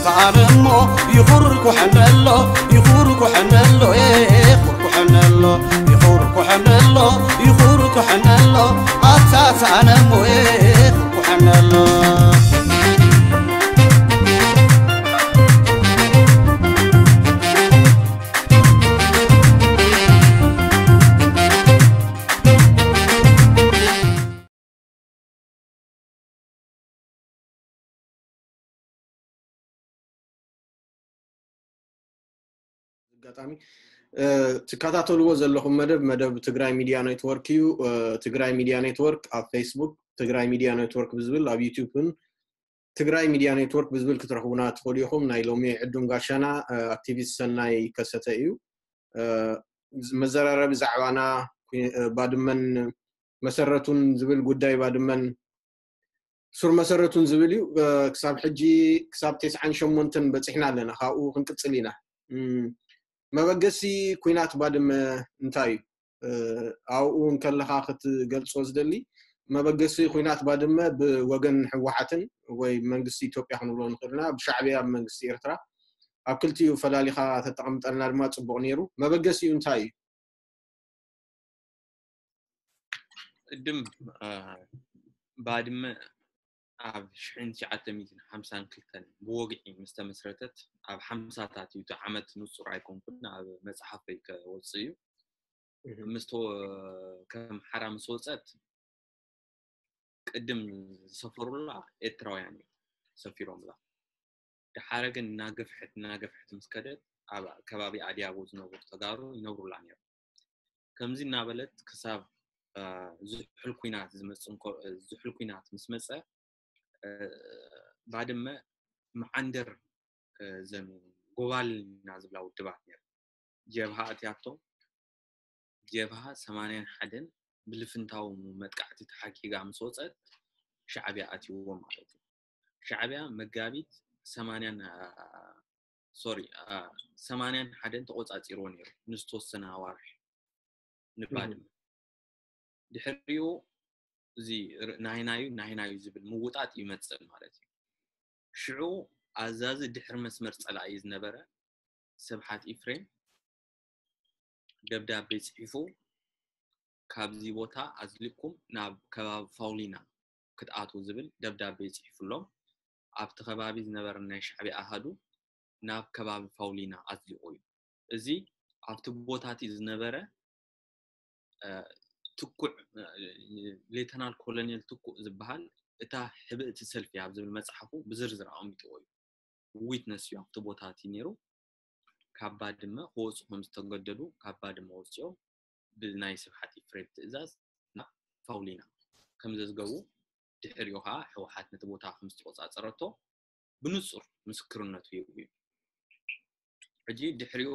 ተኣነሞ ይኹርኩሐነሎ ይኹርኩሐነሎ ይኹርኩሐነሎ ይኹርኩሐነሎ ይኹርኩሐነሎ ኣታ ተኣነሞ ይኹርኩሐነሎ። ኣጋጣሚ ትከታተልዎ ዘለኹም መደብ መደብ ትግራይ ሚድያ ኔትወርክ እዩ። ትግራይ ሚድያ ኔትወርክ ኣብ ፌስቡክ ትግራይ ሚድያ ኔትወርክ ብዝብል ኣብ ዩቲዩብን ትግራይ ሚድያ ኔትወርክ ብዝብል ክትረኽቡና ትኽእሉ ኢኹም። ናይ ሎሚ ዕዱም ጋሻና ኣክቲቪስት ሰናይ ከሰተ እዩ። መዘራረቢ ዛዕባና ባድመን መሰረቱን ዝብል ጉዳይ ባድመን ሱር መሰረቱን ዝብል እዩ። ክሳብ ሕጂ ክሳብ ተስዓን ሸሞንተን በፂሕና ኣለና። ካብኡ ክንቅፅል ኢና። መበገሲ ኩናት ባድመ እንታይ እዩ? ኣብኡ እንከለኻ ክትገልፆ ዝደሊ መበገሲ ኩናት ባድመ ብወገን ህወሓትን ወይ መንግስቲ ኢትዮጵያ ክንብሎ ንኽእልና ብሻዕብያ መንግስቲ ኤርትራ ኣብ ክልቲኡ ፈላሊኻ ተጠቐምጠልና ድማ ፅቡቕ ነይሩ። መበገሲኡ እንታይ እዩ? ቅድም ባድመ ኣብ ሽሕን ትሽዓተ ሚእትን ሓምሳን ክልተን ብወግዒ ምስ ተመስረተት ኣብ ሓምሳታት እዩ። እቲ ዓመት ንጹር ኣይኮንኩን፣ ኣብ መጽሓፈይ ከወጽእ እዩ። ምስ ከም ሓራ ምስ ወጸት ቅድም ዝሰፈሩላ ኤርትራውያን እዮም ሰፊሮምላ። ደሓረ ግን እናገፍሐት እናገፍሐት ምስ ከደት ኣብ ከባቢ ኣድያቦ ዝነብሩ ተጋሩ ይነብሩላ ነይሮም። ከምዚ እናበለት ክሳብ ዝሑል ኲናት ዝመፅእ እንኮ ዝሑል ኲናት ምስ መፀ ባድመ መዓንደር ዘን ጎባል ኢና ዝብላ ውድባት ነይሩ። ጀብሃ ኣትያቶም ጀብሃ ሰማንያን ሓደን ብልፍንታዊ መጥቃዕቲ ተሓጊጋ ምስ ወፀት ሻዕብያ ኣትይዎ ማለት እዩ። ሻዕብያ መጋቢት ሰማንያን ሶሪ ሰማንያን ሓደን ተቆፃፂርዎ ነይሩ ንዝተወሰነ ኣዋርሕ ንባድመ። ድሕሪኡ እዚ ናይናዩ ናይናዩ ዝብል ምውጣጥ ይመፅእ ማለት እዩ። ሽዑ ኣዛዚ ድሕሪ መስመር ፀላኢ ዝነበረ ስብሓት ኢፍሬም ደብዳቤ ፅሒፉ ካብዚ ቦታ ኣዝሊቕኩም ናብ ከባቢ ፋውሊና ክትኣትዉ ዝብል ደብዳቤ ፅሒፉሎም ኣብቲ ከባቢ ዝነበረ ናይ ሻዕብያ ኣሃዱ ናብ ከባቢ ፋውሊና ኣዝሊቑ እዩ። እዚ ኣብቲ ቦታ እቲ ዝነበረ ትኩዕ ሌተናል ኮሎኔል ትኩእ ዝበሃል እታ ሕብእቲ ሰልፊ ኣብ ዝብል መፅሓፉ ብዝርዝር ኣቐሚጥዎ እዩ። ዊትነስ እዩ ኣብቲ ቦታ እቲ ነይሩ። ካብ ባድመ ክወፁ ከም ዝተገደዱ ካብ ባድመ ወፂኦም ብናይ ስብሓት ኢፍሬም ትእዛዝ ናብ ፋውሊና ከም ዘዝገቡ ድሕሪኡ ከዓ ህወሓት ነቲ ቦታ ከም ዝተቆፃፀረቶ ብንፁር ምስክርነቱ ይህቡ እዩ። ሕጂ ድሕሪኡ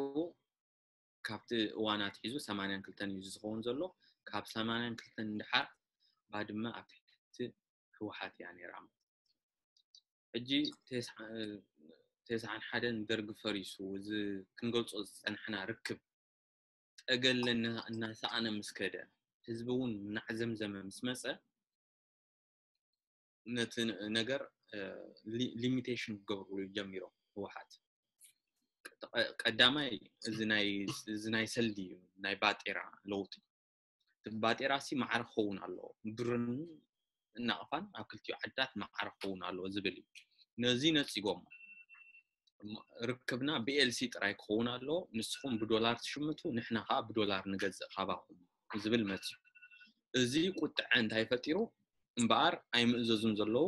ካብቲ እዋን ኣትሒዙ ሰማንያን ክልተን እዩ ዝኸውን ዘሎ። ካብ ሰማንያን ክልተን ንድሓር ባድመ ኣብ ትሕቲ ህወሓት እያ ነይራ። ሕጂ ተስዓን ሓደን ደርጊ ፈሪሱ እዚ ክንገልፆ ዝፀናሕና ርክብ ጠገለ እናሰኣነ ምስ ከደ ህዝቢ እውን እናዕዘምዘመ ምስ መፀ ነቲ ነገር ሊሚቴሽን ክገብርሉ ጀሚሮም ህወሓት። ቀዳማይ እዚ ናይ ሰልዲ እዩ፣ ናይ ባጤራ ለውጢ። እቲ ባጤራ ሲ ማዕረ ክኸውን ኣለዎ፣ ብርን እናቕፋን ኣብ ክልቲኡ ዓድታት ማዕረ ክኸውን ኣለዎ ዝብል እዩ። ነዚ ነፂጎም ርክብና ብኤልሲ ጥራይ ክኸውን ኣለዎ፣ ንስኹም ብዶላር ትሽምቱ ንሕና ከዓ ብዶላር ንገዝእ ካባኹም ዝብል መፅዩ። እዚ ቁጥዐ እንታይ ፈጢሩ? እምበኣር ኣይምእዘዙን ዘለዉ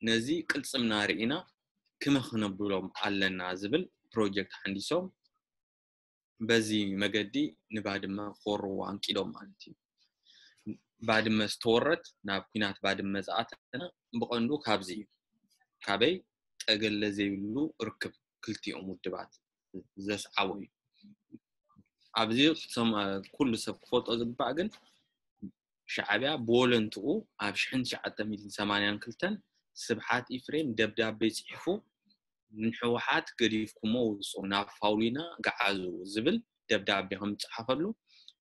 ነዚ ቅልፅምና ርኢና ክመ ክነብሎም ኣለና ዝብል ፕሮጀክት ሓንዲሶም በዚ መገዲ ንባድመ ክወርዎ ኣንቂዶም ማለት እዩ። ባድመ ዝተወረት ናብ ኲናት ባድመ ዝኣተና ብቐንዱ ካብዚ እዩ። ካበይ ጠገለ ዘይብሉ ርክብ ክልቲኦም ውድባት ዘስዓቦ እዩ። ኣብዚ ኩሉ ሰብ ክፈልጦ ዝግባእ ግን ሻዕብያ ብወለንትኡ ኣብ ሽሕን ትሽዓተ ሚእትን ሰማንያን ክልተን ስብሓት ኢፍሬም ደብዳቤ ፅሒፉ ንሕወሓት ገዲፍኩሞ ውፁ ናብ ፋውሊና ገዓዙ ዝብል ደብዳቤ ከም ዝፀሓፈሉ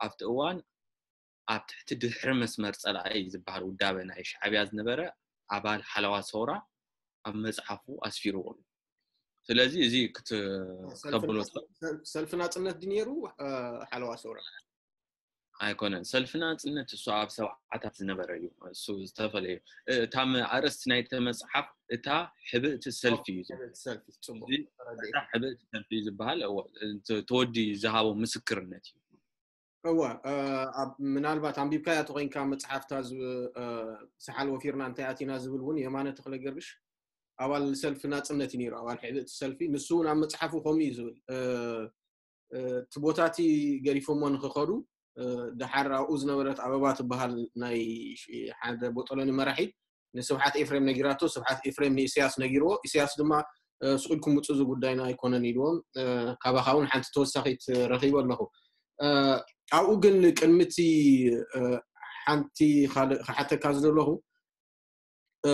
ኣብቲ እዋን ኣብ ትሕቲ ድሕሪ መስመር ፀላኢ ዝበሃል ውዳበ ናይ ሻዕብያ ዝነበረ ኣባል ሓለዋ ሰውራ ኣብ መፅሓፉ ኣስፊርዎ ኣሎ። ስለዚ እዚ ክት- ሰልፊ ክተብሎ ናጽ- ሰል- ሰልፊ ናጽነት ድዩ ነይሩ? እ፣ ሓለዋ ሰውራ ኣይኮነን። ሰልፊ ናጽነት እሱ ኣብ ሰብዓታት ዝነበረ እዩ። እሱ ዝተፈለየ እዩ። እታ ም- ኣርእስቲ ናይቲ መጽሓፍ እታ ሕብእቲ ሰልፊ እዩ ዝብል። ሰልፊ ጽቡቅ እዚ ተረዲኤ። እታ ሕብእቲ ሰልፊ እዩ ዝበሃል። እዎ፣ እቲ ተወዲ ዝሃቦ ምስክርነት እዩ። እወ እ፣ ኣብ- ምናልባት ኣንቢብካያ ተኮይንካ መጽሓፍታ ዝ- እ፣ ሰሓል ወፊርና እንታይ ኣቲና ዝብል እውን የማነ ተክለ ገርግሽ ኣባል ሰልፊ ናጽነት እዩ ነይሩ፣ ኣባል ሕብእቲ ሰልፊ። ንሱ እውን ኣብ መጽሓፉ ከምኡ እዩ ዝብል። እ፣ እ፣ እቲ ቦታቲ ገዲፎሞ ንክኸዱ፣ እ፣ ደሓር ኣብኡ ዝነበረት ኣበባ ትበሃል ናይ ሽ- ሓደ ቦጦሎኒ መራሒት ንስብሓት ኤፍሬም ነጊራቶ። ስብሓት ኤፍሬም ንኢሳያስ ነጊርዎ። ኢሳያስ ድማ እ፣ ስቕ ኢልኩም ውጹ፣ እዚ ጉዳይና ኣይኮነን ኢልዎም። እ፣ ካባኻ እውን ሓንቲ ተወሳኺት ረኺበ ኣለኹ። እ፣ ኣብኡ ግን ቅድሚ እቲ እ፣ ሓንቲ ካልእ ክሓተካ ዝደለኹ እ፣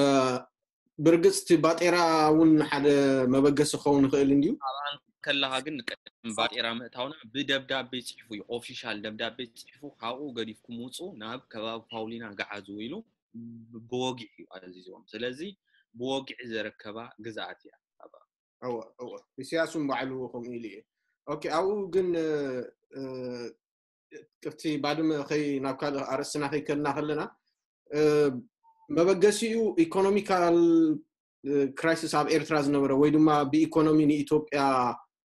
ብርግጽ እቲ ባጤራ እውን ሓደ መበገሲ ክኸውን ይኽእል እንድዩ። ኣብኣን ከለኻ ግን ቅድሚ ባጤራ ምእታውና ብደብዳቤ ጽሒፉ እዩ፣ ኦፊሻል ደብዳቤ ጽሒፉ፣ ካብኡ ገዲፍኩም ውጹ፣ ናብ ከባቢ ፓውሊና ገዓዙ ኢሉ ብ- ብወግዒ እዩ ኣዚዝዎም። ስለዚ ብወግዒ ዘረከባ ግዝኣት እያ። እወ እወ፣ ኢሳያስ እውን ባዕሉ ከምኡ ኢሉ እዩ። ኦኬ፣ ኣብኡ ግን እ፣ እ፣ ቅርቲ ባድመ ከይ ናብ ካልእ ኣርእስትና ከይከድና ከለና እ፣ መበገሲኡ ኢኮኖሚካል እ፣ ክራይሲስ ኣብ ኤርትራ ዝነበረ ወይ ድማ ብኢኮኖሚ ንኢትዮጵያ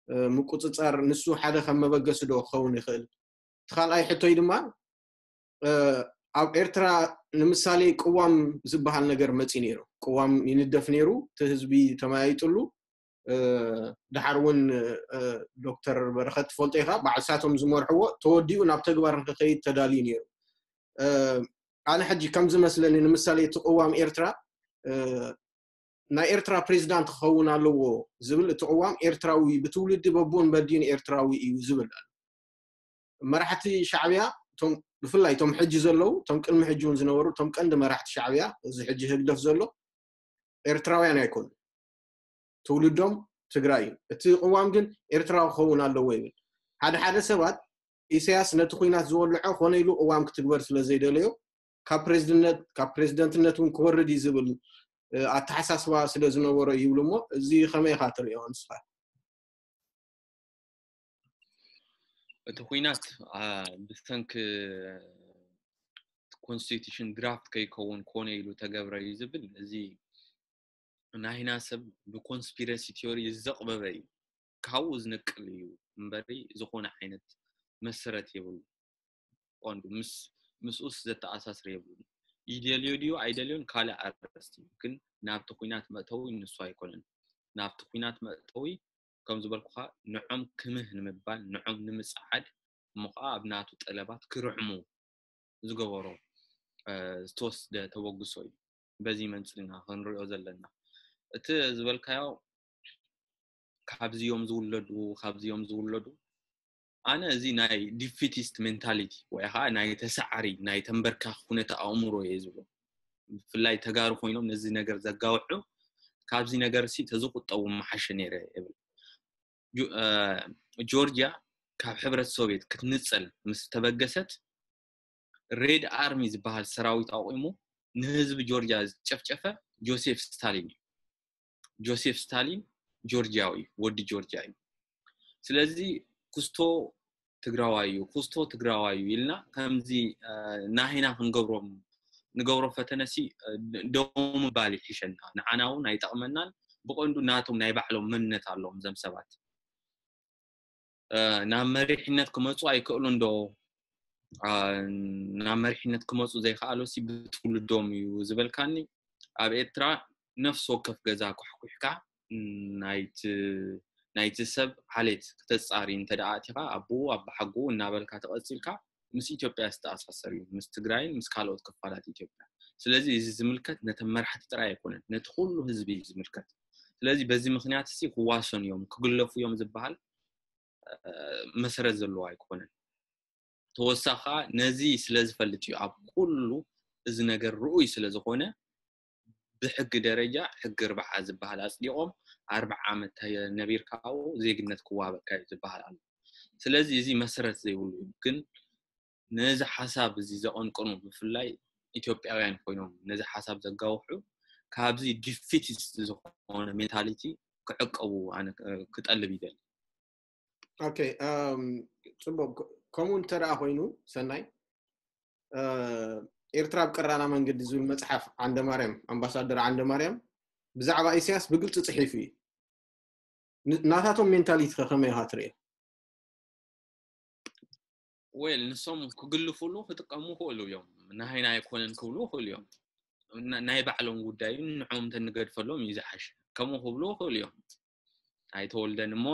እ፣ ምቁጽጻር ንሱ ሓደ ከም መበገሲ ዶ ክኸውን ይኽእል? እቲ ካልኣይ ሕቶይ ድማ እ፣ ኣብ ኤርትራ ንምሳሌ ቅዋም ዝበሃል ነገር መጺ ነይሩ። ቅዋም ይንደፍ ነይሩ፣ እቲ ህዝቢ ተመያይጥሉ። እ፣ ደሓር እውን እ፣ ዶክተር በረኸት ትፈልጦ ኢኻ፣ ባዕልሳቶም ዝመርሕዎ ተወዲኡ ናብ ተግባር ንክኸይድ ተዳልዩ ነይሩ። እ፣ ኣነ ሕጂ ከም ዝመስለኒ ንምሳሌ እቲ ቅዋም ኤርትራ እ፣ ናይ ኤርትራ ፕሬዚዳንት ክኸውን ኣለዎ ዝብል እቲ ቅዋም ኤርትራዊ ብትውልዲ በቦን በዲን ኤርትራዊ እዩ ዝብል ኣሎ። መራሕቲ ሻዕብያ እቶም ብፍላይ እቶም ሕጂ ዘለዉ እቶም ቅድሚ ሕጂ እውን ዝነበሩ እቶም ቀንዲ መራሕቲ ሻዕብያ እዚ ሕጂ ህግደፍ ዘሎ ኤርትራውያን ኣይኮኑ። ትውልዶም ትግራይ እዩ። እቲ ቅዋም ግን ኤርትራዊ ክኸውን ኣለዎ ይብል። ሓደ ሓደ ሰባት ኢሳያስ ነቲ ኩናት ዝወልዖ ኮነ ኢሉ ቅዋም ክትግበር ስለ ዘይደለዮ ካብ ፕሬዝድነት ካብ ፕሬዝደንትነት እውን ክወርድ እዩ ዝብል እ፣ ኣተሓሳስባ ስለ ዝነበሮ ይብሉ እሞ እዚ ከመይ ኢኻ ትሪኦ ንስኻ? እቲ ኩናት አ፣ ብሰንኪ ኮንስቲቱሽን ድራፍት ከይከውን ኮነ ኢሉ ተገብረ እዩ ዝብል እዚ ናይና ሰብ ብኮንስፒረሲ ቲዮሪ ዘቕበበ እዩ። ካብኡ ዝነቅል እዩ እምበሪ ዝኾነ ዓይነት መሰረት የብሉ። ቀንዱ ምስ ምስኡስ ዘተኣሳስር የብሉን። ይደልዮ ድዩ ኣይደልዮን ካልእ ኣርእስቲ እዩ። ግን ናብቲ ኩናት መእተዊ ንሱ ኣይኮነን። ናብቲ ኩናት መእተዊ ከም ዝበልኩኻ ንዖም ክምህ ንምባል ንዖም ንምጽዓድ እሞ ከዓ ኣብ ናቱ ጠለባት ክርዕሙ ዝገበሮ እ፣ ዝተወስደ ተበግሶ እዩ። በዚ መንፅር ኢና ክንሪኦ ዘለና። እቲ ዝበልካዮ ካብዚኦም ዝውለዱ ካብዚኦም ዝውለዱ ኣነ እዚ ናይ ዲፊቲስት ሜንታሊቲ ወይ ከዓ ናይ ተሰዓሪ ናይ ተንበርካኽ ኩነተ ኣእምሮ እየ ዝብሎ። ብፍላይ ተጋሩ ኮይኖም ነዚ ነገር ዘጋውሑ ካብዚ ነገር ሲ ተዝቁጠቡ ምሓሸ ነይረ ይብል። ጆ- እ፣ ጆርጂያ ካብ ሕብረት ሶቪየት ክትንፀል ምስ ተበገሰት ሬድ ኣርሚ ዝበሃል ሰራዊት ኣቑሙ ንህዝቢ ጆርጂያ ዝጨፍጨፈ ጆሴፍ ስታሊን እዩ። ጆሴፍ ስታሊን ጆርጂያዊ እዩ፣ ወዲ ጆርጂያ እዩ። ስለዚ ኩስቶ ትግራዋይ እዩ፣ ኩስቶ ትግራዋይ እዩ ኢልና ከምዚ እ፣ ናሂና ክንገብሮም ንገብሮ ፈተነሲ እ፣ ደው ምባል ይሕሸና። ንዓና እውን ኣይጠቕመናን። ብቐንዱ ናቶም ናይ ባዕሎም መንነት ኣለዎም እዞም ሰባት። እ፣ ናብ መሪሕነት ክመፁ ኣይክእሉን ዶ? እ፣ ናብ መሪሕነት ክመፁ ዘይከኣሉ ሲ ብትውልዶም እዩ ዝበልካኒ። ኣብ ኤርትራ ነፍሲ ወከፍ ገዛ ኳሕኩሕካ ናይቲ ናይቲ ሰብ ዓሌት ክተጻሪ እንተ ደኣ ኣቲኻ ኣቦኡ ኣባሓጎኡ እናበልካ ተቐጺልካ ምስ ኢትዮጵያ ዝተኣሳሰር እዩ፣ ምስ ትግራይን ምስ ካልኦት ክፋላት ኢትዮጵያ። ስለዚ እዚ ዝምልከት ነተን መራሕቲ ጥራይ ኣይኮነን፣ ነቲ ኩሉ ህዝቢ እዩ ዝምልከት። ስለዚ በዚ ምኽንያት ሲ ክዋሰኑ እዮም ክግለፉ እዮም ዝበሃል እ፣ መሰረት ዘለዎ ኣይኮነን። ተወሳኺ ከዓ ነዚ ስለ ዝፈልጥ እዩ ኣብ ኩሉ እዚ ነገር ርኡይ ስለ ዝኾነ ብሕጊ ደረጃ ሕጊ ርብዓ ዝበሃል ኣፅዲቖም ኣርብዓ ዓመት ነቢርካ ኣብኡ ዜግነት ክዋሃበካ እዩ ዝበሃል ኣሎ። ስለዚ እዚ መሰረት ዘይብሉ እዩ። ግን ነዚ ሓሳብ እዚ ዘቐንቅኑ ብፍላይ ኢትዮጵያውያን ኮይኖም ነዚ ሓሳብ ዘጋውሑ ካብዚ ዲፊቲስት ዝኾነ ሜንታሊቲ ክዕቀቡ ኣነ ክጠልብ ይደሊ። ኦኬ። ጽቡቅ። ከምኡ እንተ ደኣ ኮይኑ ሰናይ፣ ኤርትራ ኣብ ቀራና መንገዲ ዝብል መጽሓፍ ዓንደ ማርያም፣ ኣምባሳደር ዓንደ ማርያም ብዛዕባ ኢሳያስ ብግልፂ ጽሒፉ እዩ። ናታቶም ሜንታሊቲ ከ ከመይ ኢኻ ትርእዮ? ወል ንሶም ክግልፉሉ ክጥቀሙ ክእሉ እዮም። ናሃይና ኣይኮነን ክብሉ ክእሉ እዮም። ናይ ባዕሎም ጉዳይ እዩ፣ ንዕኦም እንተንገድፈሎም እዩ ዝሓሽ። ከምኡ ክብሉ ክእሉ እዮም። ኣይተወልደን እሞ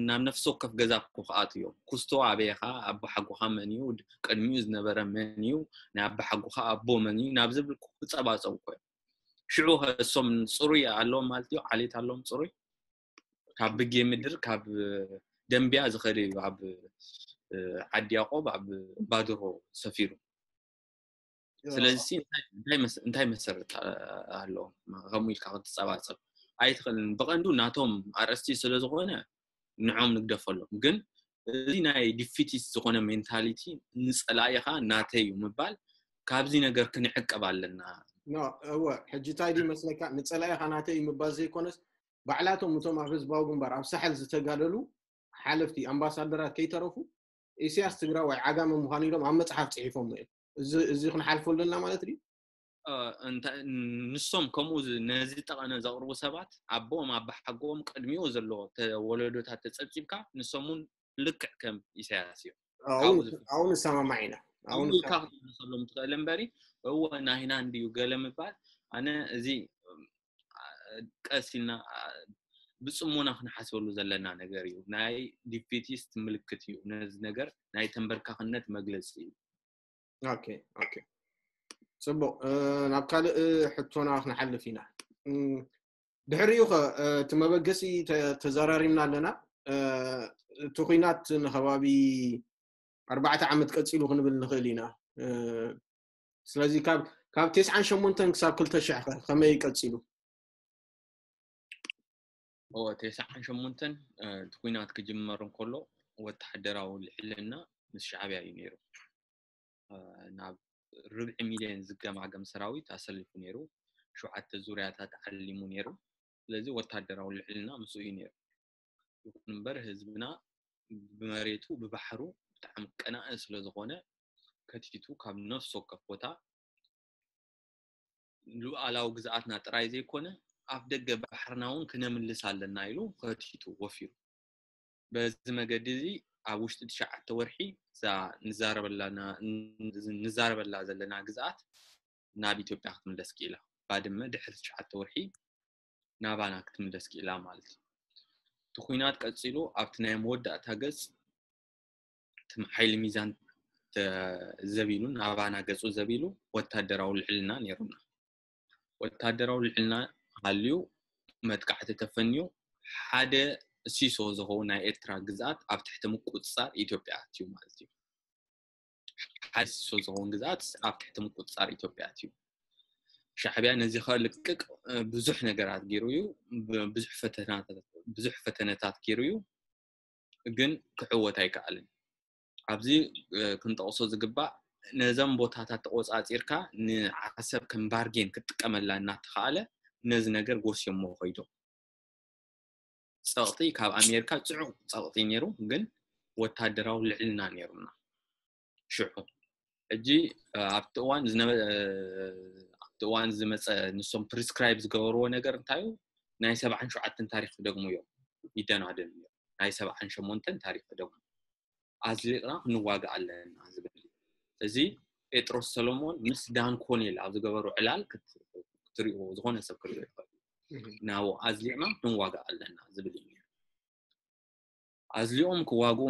ናብ ነፍሲ ወከፍ ገዛ እኮ ክኣት እዮም። ኩስቶ ኣበይኻ፣ ኣቦሓጎኻ መን እዩ፣ ቅድሚኡ ዝነበረ መን እዩ፣ ናይ ኣቦሓጎኻ ኣቦ መን እዩ ናብ ዝብል ክጸባጸቡ እኮ እዮም። ሽዑ ከ እሶም ጽሩይ ኣለዎም ማለት እዩ፣ ዓሌት ኣለዎም ጽሩይ። ካብ ብጌ ምድር ካብ ደንቢያ ዝኸደ እዩ ኣብ ዓዲ ያቆብ ኣብ ባድሮ ሰፊሩ። ስለዚ እንታይ መሰረት ኣለዎም ከምኡ ኢልካ ክትጸባጸብ ኣይትኽእልን። ብቐንዱ ናቶም ኣርእስቲ ስለ ዝኾነ ንዖም ንግደፈሎም። ግን እዚ ናይ ዲፊቲስት ዝኾነ ሜንታሊቲ ንጸላኢኻ ናተይ እዩ ምባል ካብዚ ነገር ክንዕቀብ ኣለና። እወ ሕጂ እንታይ ድዩ መስለካ ንጸላኢኻ ናተይ እዩ ምባል ዘይኮነስ ባዕላቶም እቶም ኣብ ህዝባዊ ግንባር ኣብ ሳሕል ዝተጋደሉ ሓለፍቲ ኣምባሳደራት ከይተረፉ ኢሳያስ ትግራዋይ ዓጋመ ምዃኑ ኢሎም ኣብ መጽሓፍ ጽሒፎም እዮም። እዚ ክንሓልፎ ኣለና ማለት ድዩ? ንሶም ከምኡ ነዚ ጠቐነ ዘቕርቡ ሰባት ኣቦኦም ኣባሓጎኦም ቅድሚኡ ዘሎ ወለዶታት ተጸብጺብካ ንሶም እውን ልክዕ ከም ኢሳያስ እዮም። ኣው ንሰማማዕ ኢና። ኢልካ ክትመልሰሎም ትኽእል እምበሪ እወ ናሂና እንድዩ ገለ ምባል ኣነ እዚ ቀስ ኢልና ብፅሞና ክንሓስበሉ ዘለና ነገር እዩ። ናይ ዲፊቲስት ምልክት እዩ። ነዚ ነገር ናይ ተንበርካኽነት መግለፂ እዩ። ኦኬ ኦኬ፣ ፅቡቕ። ናብ ካልእ ሕቶና ክንሓልፍ ኢና። ድሕሪኡ ኸ እቲ መበገሲ ተዘራሪብና ኣለና። እቲ ኹናት ንከባቢ ኣርባዕተ ዓመት ቀፂሉ ክንብል ንኽእል ኢና። ስለዚ ካብ ካብ ተስዓን ሸሞንተን ክሳብ ክልተ ሽሕ ከ ከመይ ቀፂሉ? እወ ተስዓን ሸሞንተን እቲ ኲናት ክጅመር እንከሎ ወተሃደራዊ ልዕልና ምስ ሻዕብያ እዩ ነይሩ። ናብ ርብዒ ሚልዮን ዝገማገም ሰራዊት ኣሰሊፉ ነይሩ። ሸውዓተ ዙርያታት ዓሊሙ ነይሩ። ስለዚ ወታደራዊ ልዕልና ምስኡ እዩ ነይሩ። ይኹን እምበር ህዝብና ብመሬቱ ብባሕሩ ብጣዕሚ ቀናኢ ስለ ዝኾነ ከቲቱ ካብ ነፍሲ ወከፍ ቦታ ሉኣላዊ ግዝኣትና ጥራይ ዘይኮነ ኣፍ ደገ ባሕርና እውን ክነምልስ ኣለና ኢሉ ከቲቱ ወፊሩ። በዚ መገዲ እዚ ኣብ ውሽጢ ትሽዓተ ወርሒ እዛ ንዛረበላ ዘለና ግዝኣት ናብ ኢትዮጵያ ክትምለስ ክኢላ። ባድመ ድሕሪ ትሽዓተ ወርሒ ናባና ክትምለስ ክኢላ ማለት እዩ። እቲ ኲናት ቀፂሉ ኣብቲ ናይ መወዳእታ ገፅ እቲ ሓይሊ ሚዛን ዘቢሉ ናባና ገፁ ዘቢሉ ወታደራዊ ልዕልና ነይሩና። ወታደራዊ ልዕልና ሃልዩ መጥቃዕቲ ተፈንዩ ሓደ ሲሶ ዝኸውን ናይ ኤርትራ ግዝኣት ኣብ ትሕቲ ምቁፅፃር ኢትዮጵያ ኣትዩ ማለት እዩ። ሓደ ሲሶ ዝኸውን ግዝኣት ኣብ ትሕቲ ምቁፅፃር ኢትዮጵያ ኣትዩ። ሻዕብያ ነዚ ከልቅቅ ብዙሕ ነገራት ገይሩ እዩ። ብዙሕ ፈተነታት ገይሩ እዩ፣ ግን ክዕወት ኣይከኣልን። ኣብዚ ክንጠቕሶ ዝግባእ ነዘም ቦታታት ተቆፃፂርካ ንዓሰብ ከም ባርጌን ክትጥቀመላ እናተኸኣለ ነዚ ነገር ጎስዮሞ ኮይዶም። ፀቕጢ ካብ ኣሜሪካ ፅዑቕ ፀቕጢ ነይሩ፣ ግን ወታደራዊ ልዕልና ነይሩና ሽዑ። ሕጂ ኣብቲ እዋን ኣብቲ እዋን ዝመፀ ንሶም ፕሪስክራይብ ዝገበርዎ ነገር እንታይ እዩ? ናይ ሰብዓን ሸውዓተን ታሪክ ክደግሙ እዮም ይደናደኑ እዮም። ናይ ሰብዓን ሸሞንተን ታሪክ ክደግሙ ኣዝሊቕና ክንዋጋእ ኣለና ዝብል እዚ ጴጥሮስ ሰሎሞን ምስ ዳን ኮኔል ኣብ ዝገበሩ ዕላል ክትሪእዎ ዝኾነ ሰብ ክሪኦ ይኽእል። ናብኡ ኣዝሊቕና ክንዋጋእ ኣለና ዝብል እዩ። ኣዝሊኦም ክዋግኡ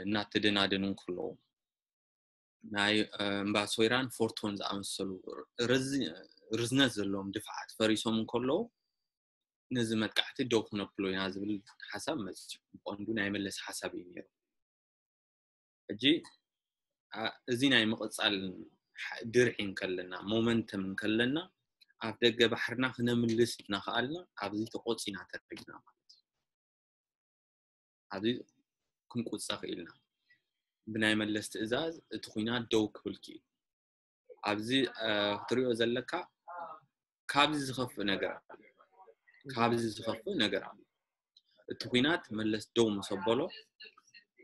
እናተደናደኑ እንከለዉ ናይ እምባ ሶይራን ፎርቶን ዝኣመሰሉ ርዝነት ዘለዎም ድፍዓት ፈሪሶም እንከለዉ ነዚ መጥቃዕቲ ደው ክነብሎ ኢና ዝብል ሓሳብ መፅዩ። ብቐንዱ ናይ መለስ ሓሳብ እዩ ነይሩ። ሕጂ እዚ ናይ ምቕፃል ድርዒ እንከለና ሞመንተም እንከለና ኣብ ደገ ባሕርና ክነምልስ እናኸኣልና ኣብዚ ተቆፂና ተረጊና ማለት እዩ። ኣብዚ ክንቁፀ ክኢልና ብናይ መለስ ትእዛዝ እቲ ኹናት ደው ክብል ክኢሉ። ኣብዚ ክትሪኦ ዘለካ ካብዚ ዝኸፍእ ነገር ካብዚ ዝኸፍእ ነገር ኣሎ። እቲ ኲናት መለስ ደው ምስ ኣበሎ፣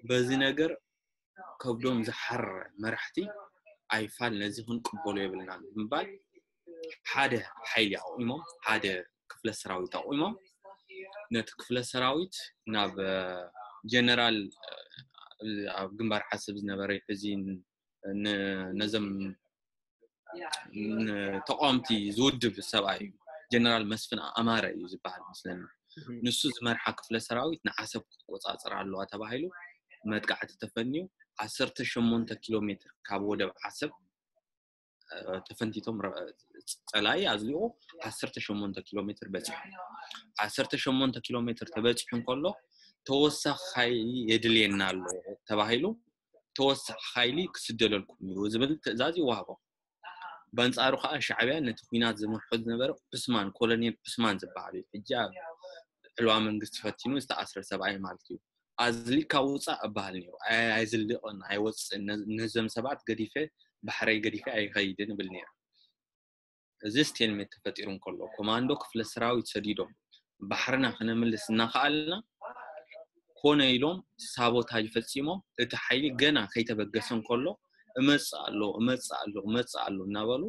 በዚ ነገር ከብዶም ዝሓረ መራሕቲ ኣይፋል ነዚ ክንቅበሎ የብልናን ብምባል ሓደ ሓይሊ ኣቑሞም፣ ሓደ ክፍለ ሰራዊት ኣቑሞም፣ ነቲ ክፍለ ሰራዊት ናብ ጀነራል ኣብ ግንባር ዓሰብ ዝነበረ ሕዚ ነዘም ተቃወምቲ ዝውድብ ሰብኣይ እዩ። ጀነራል መስፍን ኣማረ እዩ ዝበሃል መስለኒ። ንሱ ዝመርሓ ክፍለ ሰራዊት ንዓሰብ ክትቆፃፀር ኣለዋ ተባሂሉ መጥቃዕቲ ተፈንዩ ዓሰርተ ሸሞንተ ኪሎ ሜትር ካብ ወደብ ዓሰብ ተፈንቲቶም ጸላኢ ኣዝሊቑ ዓሰርተ ሸሞንተ ኪሎ ሜትር በፂሑ። ዓሰርተ ሸሞንተ ኪሎ ሜትር ተበፂሑ እንከሎ ተወሳኺ ሓይሊ የድልየና ኣሎ ተባሂሉ ተወሳኺ ሓይሊ ክስደለልኩም እዩ ዝብል ትእዛዝ ይወሃቦ። በንጻሩ ከዓ ሻዕብያ ነቲ ኲናት ዝመርሖ ዝነበረ ዑስማን፣ ኮሎኔል ዑስማን ዝበሃል እዩ። ሕጂ ኣብ ዕልዋ መንግስቲ ፈቲኑ ዝተኣስረ ሰብኣይ ማለት እዩ። ኣዝሊካ ውፃእ እበሃል ነይሩ። ኣይ- ኣይዝልቕን፣ ኣይወፅእን። ነዝ- ነዞም ሰባት ገዲፈ፣ ባሕረይ ገዲፈ ኣይኸይድን እብል ነይሩ። እዚ ስቴልሜት ተፈጢሩ እንከሎ ኮማንዶ ክፍለ ሰራዊት ሰዲዶም ባሕርና ክነምልስ እናኸኣልና ኮነ ኢሎም ሳቦታጅ ፈፂሞም እቲ ሓይሊ ገና ከይተበገሰ እንከሎ እመፅእ ኣሎ እመፅእ ኣሎ እመፅእ ኣሎ እናበሉ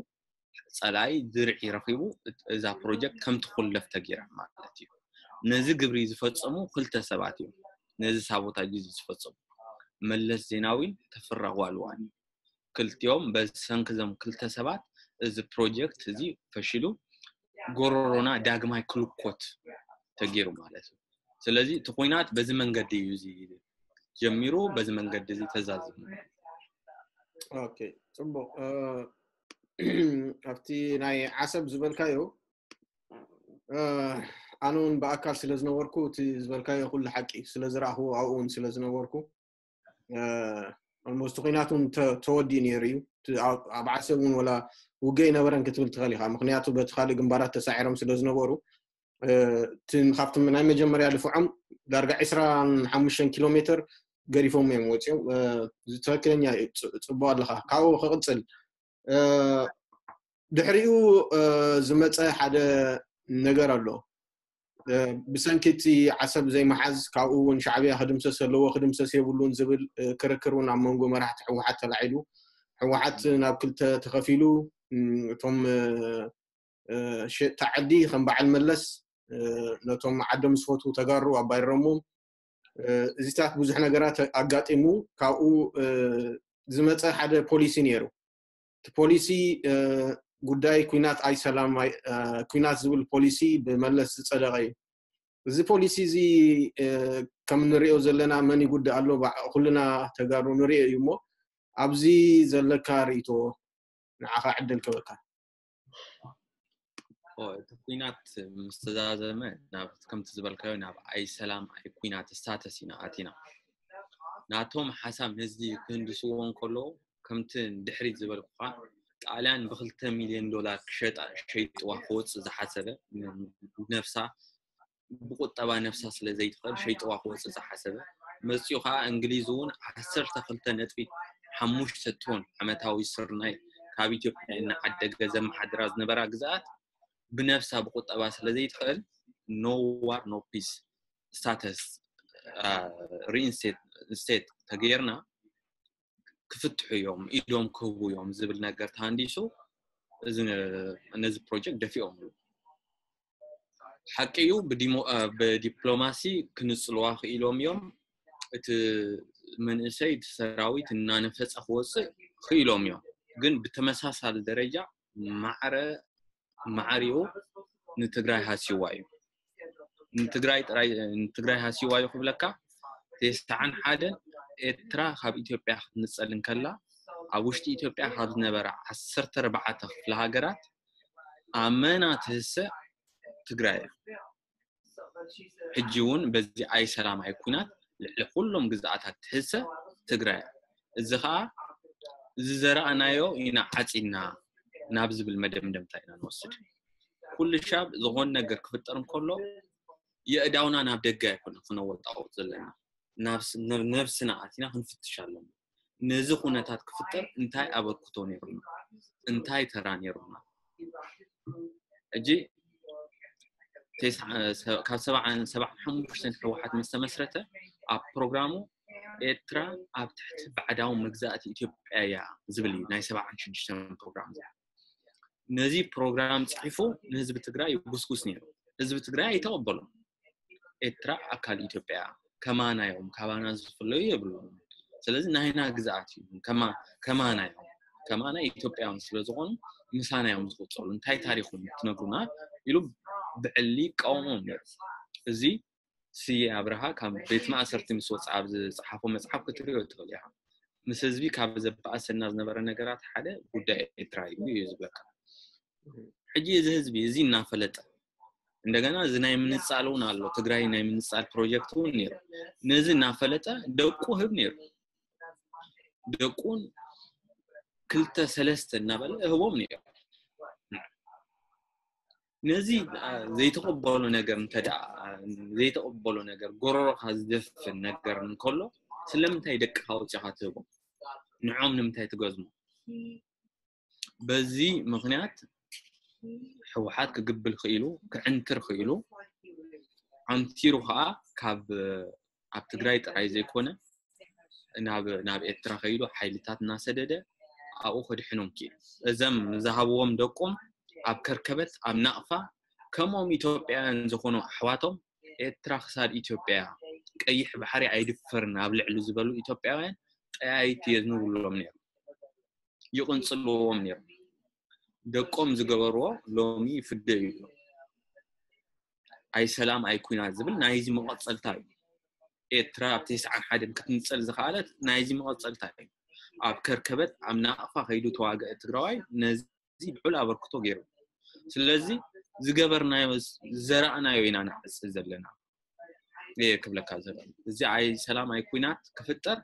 ፀላኢ ድርዒ ረኺቡ እዛ ፕሮጀክት ከም ትኹለፍ ተገይራ ማለት እዩ። ነዚ ግብሪ ዝፈፀሙ ክልተ ሰባት እዮም። ነዚ ሳቦታጅ እዚ ዝፈፀሙ መለስ ዜናዊን ተፈራ ጓልዋን። ክልቲኦም በሰንኪ እዞም ክልተ ሰባት እዚ ፕሮጀክት እዚ ፈሽሉ ጎሮሮና ዳግማይ ክልኮት ተገይሩ ማለት እዩ። ስለዚ እቲ ኩናት በዚ መንገዲ እዩ እዚ ጀሚሩ፣ በዚ መንገዲ እዚ ተዛዚሙ። ኦኬ፣ ፅቡቕ። ኣብቲ ናይ ዓሰብ ዝበልካዮ ኣነ እውን ብኣካል ስለ ዝነበርኩ እቲ ዝበልካዮ ኩሉ ሓቂ ስለ ዝረኣኽዎ ኣብኡ እውን ስለ ዝነበርኩ ኦልሞስት ኩናት እውን ተወዲኡ ነይሩ እዩ። ኣብ ዓሰብ እውን ወላ ውግእ ኣይነበረን ክትብል ትኽእል ኢኻ። ምክንያቱ በቲ ካልእ ግንባራት ተሳዒሮም ስለ ዝነበሩ ካብቲ ናይ መጀመርያ ልፍዖም ዳርጋ ዕስራን ሓሙሽተን ኪሎ ሜትር ገዲፎም እዮም ወፂኦም። ትክክለኛ ፅቡቅ ኣለካ። ካብኡ ክቅፅል ድሕሪኡ ዝመፀ ሓደ ነገር ኣሎ። ብሰንኪ እቲ ዓሰብ ዘይመሓዝ ካብኡ እውን ሻዕብያ ክድምሰስ ኣለዎ ክድምሰስ የብሉን ዝብል ክርክር እውን ኣብ መንጎ መራሕቲ ህወሓት ተላዒሉ። ህወሓት ናብ ክልተ ተኸፊሉ። እቶም ሸጥቲ ዓዲ ከም በዓል መለስ ነቶም ዓዶም ዝፈትዉ ተጋሩ ኣባይረሞም። እዚታት ብዙሕ ነገራት ኣጋጢሙ። ካብኡ ዝመፀ ሓደ ፖሊሲ ነይሩ። እቲ ፖሊሲ ጉዳይ ኩናት ኣይሰላም ኩናት ዝብል ፖሊሲ ብመለስ ዝፀደቐ እዩ። እዚ ፖሊሲ እዚ ከም ንሪኦ ዘለና መን ይጉዳእ ኣሎ ኩልና ተጋሩ ንሪኦ እዩ። እሞ ኣብዚ ዘለካ ርእይቶ ንዓኻ ዕድል ክበካ። እቲ ኩናት ምስ ተዛዘመ ከምቲ ዝበልካዮ ናብ ኣይ ሰላም ኣይ ኩናት ስታተስ ኢና ኣቲና። ናቶም ሓሳብ ነዚ ክህንድስዎ እንከለዉ ከምቲ ድሕሪት ዝበልኩኻ ጣልያን ብክልተ ሚልዮን ዶላር ክሸጣ ሸይጥዋ ክወፅእ ዝሓሰበ ነፍሳ ብቁጠባ ነፍሳ ስለ ዘይትኽእል ሸይጥዋ ክወፅእ ዝሓሰበ መፂኡ ከዓ እንግሊዝ እውን ዓሰርተ ክልተ ነጥቢ ሓሙሽተ ቶን ዓመታዊ ስርናይ ካብ ኢትዮጵያ እናዓደገ ዘመሓድራ ዝነበራ ግዝኣት ብነፍሳ ብቁጠባ ስለ ዘይትኽእል no war no peace status reinstatement ተገይርና ክፍትሑ እዮም ኢዶም ክህቡ እዮም ዝብል ነገር ተሃንዲሱ ነዚ ፕሮጀክት ደፊኦም። ሓቂ እዩ ብዲፕሎማሲ ክንፅልዋ ክኢሎም እዮም። እቲ መንእሰይ እቲ ሰራዊት እናነፈፀ ክወፅእ ክኢሎም እዮም። ግን ብተመሳሳሊ ደረጃ ማዕረ ማዕሪኡ ንትግራይ ሃስይዋ እዩ። ንትግራይ ጥራይ ንትግራይ ሃስይዋ እዩ ክብለካ። ተስዓን ሓደን ኤርትራ ካብ ኢትዮጵያ ክትንፀል እንከላ ኣብ ውሽጢ ኢትዮጵያ ካብ ዝነበራ ዓሰርተ ኣርባዕተ ክፍለ ሃገራት ኣመና ትህሰ ትግራይ እያ። ሕጂ እውን በዚ ኣይ ሰላም ኣይ ኩናት ልዕሊ ኩሎም ግዝኣታት ትህሰ ትግራይ እያ። እዚ ከዓ እዚ ዘረኣናዮ ኢና ዓፂና ናብ ዝብል መደምደምታ ኢና ንወስድ። ኩሉ ሻብ ዝኾን ነገር ክፍጠር እንከሎ የእዳውና ናብ ደገ ኣይኮነ ክነወጣወጥ ዘለና ነብስና ኣቲና ክንፍትሽ ኣለና። ነዚ ኩነታት ክፍጠር እንታይ ኣበርክቶ ነይሩና? እንታይ ተራ ነይሩና? ሕጂ ካብ ሰብዓን ሓሙሽተን ህወሓት ምስ ተመስረተ ኣብ ፕሮግራሙ ኤርትራ ኣብ ትሕቲ ባዕዳዊ መግዛእቲ ኢትዮጵያ እያ ዝብል እዩ ናይ ሰብዓን ሽዱሽተን ፕሮግራም። ነዚ ፕሮግራም ፅሒፉ ንህዝቢ ትግራይ ይጉስጉስ ነይሩ። ህዝቢ ትግራይ ኣይተቐበሎም። ኤርትራ ኣካል ኢትዮጵያ ከማና እዮም፣ ካባና ዝፍለዩ የብሎም። ስለዚ ናይና ግዝኣት እዩ፣ ከማና እዮም፣ ከማና ኢትዮጵያውያን ስለ ዝኾኑ ምሳና እዮም ዝቁፀሉ። እንታይ ታሪኹም ትነግሩና ኢሉ ብዕሊ ይቃወሞም ነይሩ። እዚ ስየ ኣብርሃ ካብ ቤት ማእሰርቲ ምስ ወፅኣ ኣብ ዝፀሓፎ መፅሓፍ ክትሪኦ ትኽእል ኢኻ። ምስ ህዝቢ ካብ ዘባእሰና ዝነበረ ነገራት ሓደ ጉዳይ ኤርትራ እዩ እዩ ዝብለካ። ሕጂ እዚ ህዝቢ እዚ እናፈለጠ እንደገና እዚ ናይ ምንፃል እውን ኣሎ። ትግራይ ናይ ምንፃል ፕሮጀክት እውን ነይሩ። ነዚ እናፈለጠ ደቁ ህብ ነይሩ። ደቁን ክልተ ሰለስተ እናበለ እህቦም ነይሩ። ነዚ ዘይተቐበሎ ነገር እንተ ደኣ ዘይተቐበሎ ነገር ጎረሮኻ ዝደፍን ነገር እንከሎ ስለምንታይ ደቅኻ ወፂኻ ትህቦም? ንዖም ንምንታይ ትገዝሞ? በዚ ምኽንያት ህወሓት ክግብል ክኢሉ ክዕንትር ክኢሉ ዓንቲሩ ከዓ ካብ ኣብ ትግራይ ጥራይ ዘይኮነ ናብ ናብ ኤርትራ ከይዱ ሓይልታት እናሰደደ ኣብኡ ከድሕኖም ክኢሉ። እዘም ዝሃብዎም ደቆም ኣብ ከርከበት ኣብ ናቕፋ ከምኦም ኢትዮጵያውያን ዝኾኑ ኣሕዋቶም ኤርትራ ክሳድ ኢትዮጵያ ቀይሕ ባሕሪ ኣይድፈርን ኣብ ልዕሊ ዝበሉ ኢትዮጵያውያን ጠያይቲ የዝንብሎም ነይሩ። ይቕንፅልዎም ነይሩ። ደቆም ዝገበርዎ ሎሚ ይፍደ እዩ። ኣይ ሰላም ኣይ ኩናት ዝብል ናይዚ መቐፀልታ እዩ። ኤርትራ ኣብ ተስዓን ሓደን ክትንፀል ዝኸኣለት ናይዚ መቐፀልታ እዩ። ኣብ ከርከበት ኣብ ናቕፋ ከይዱ ተዋግአ ትግራዋይ ነዚ ልዑል ኣበርክቶ ገይሩ። ስለዚ ዝገበርናዮ ዝዘራእናዮ ኢና ንዓፅድ ዘለና። እየ ክብለካ ዘሎ እዚ ኣይ ሰላም ኣይ ኩናት ክፍጠር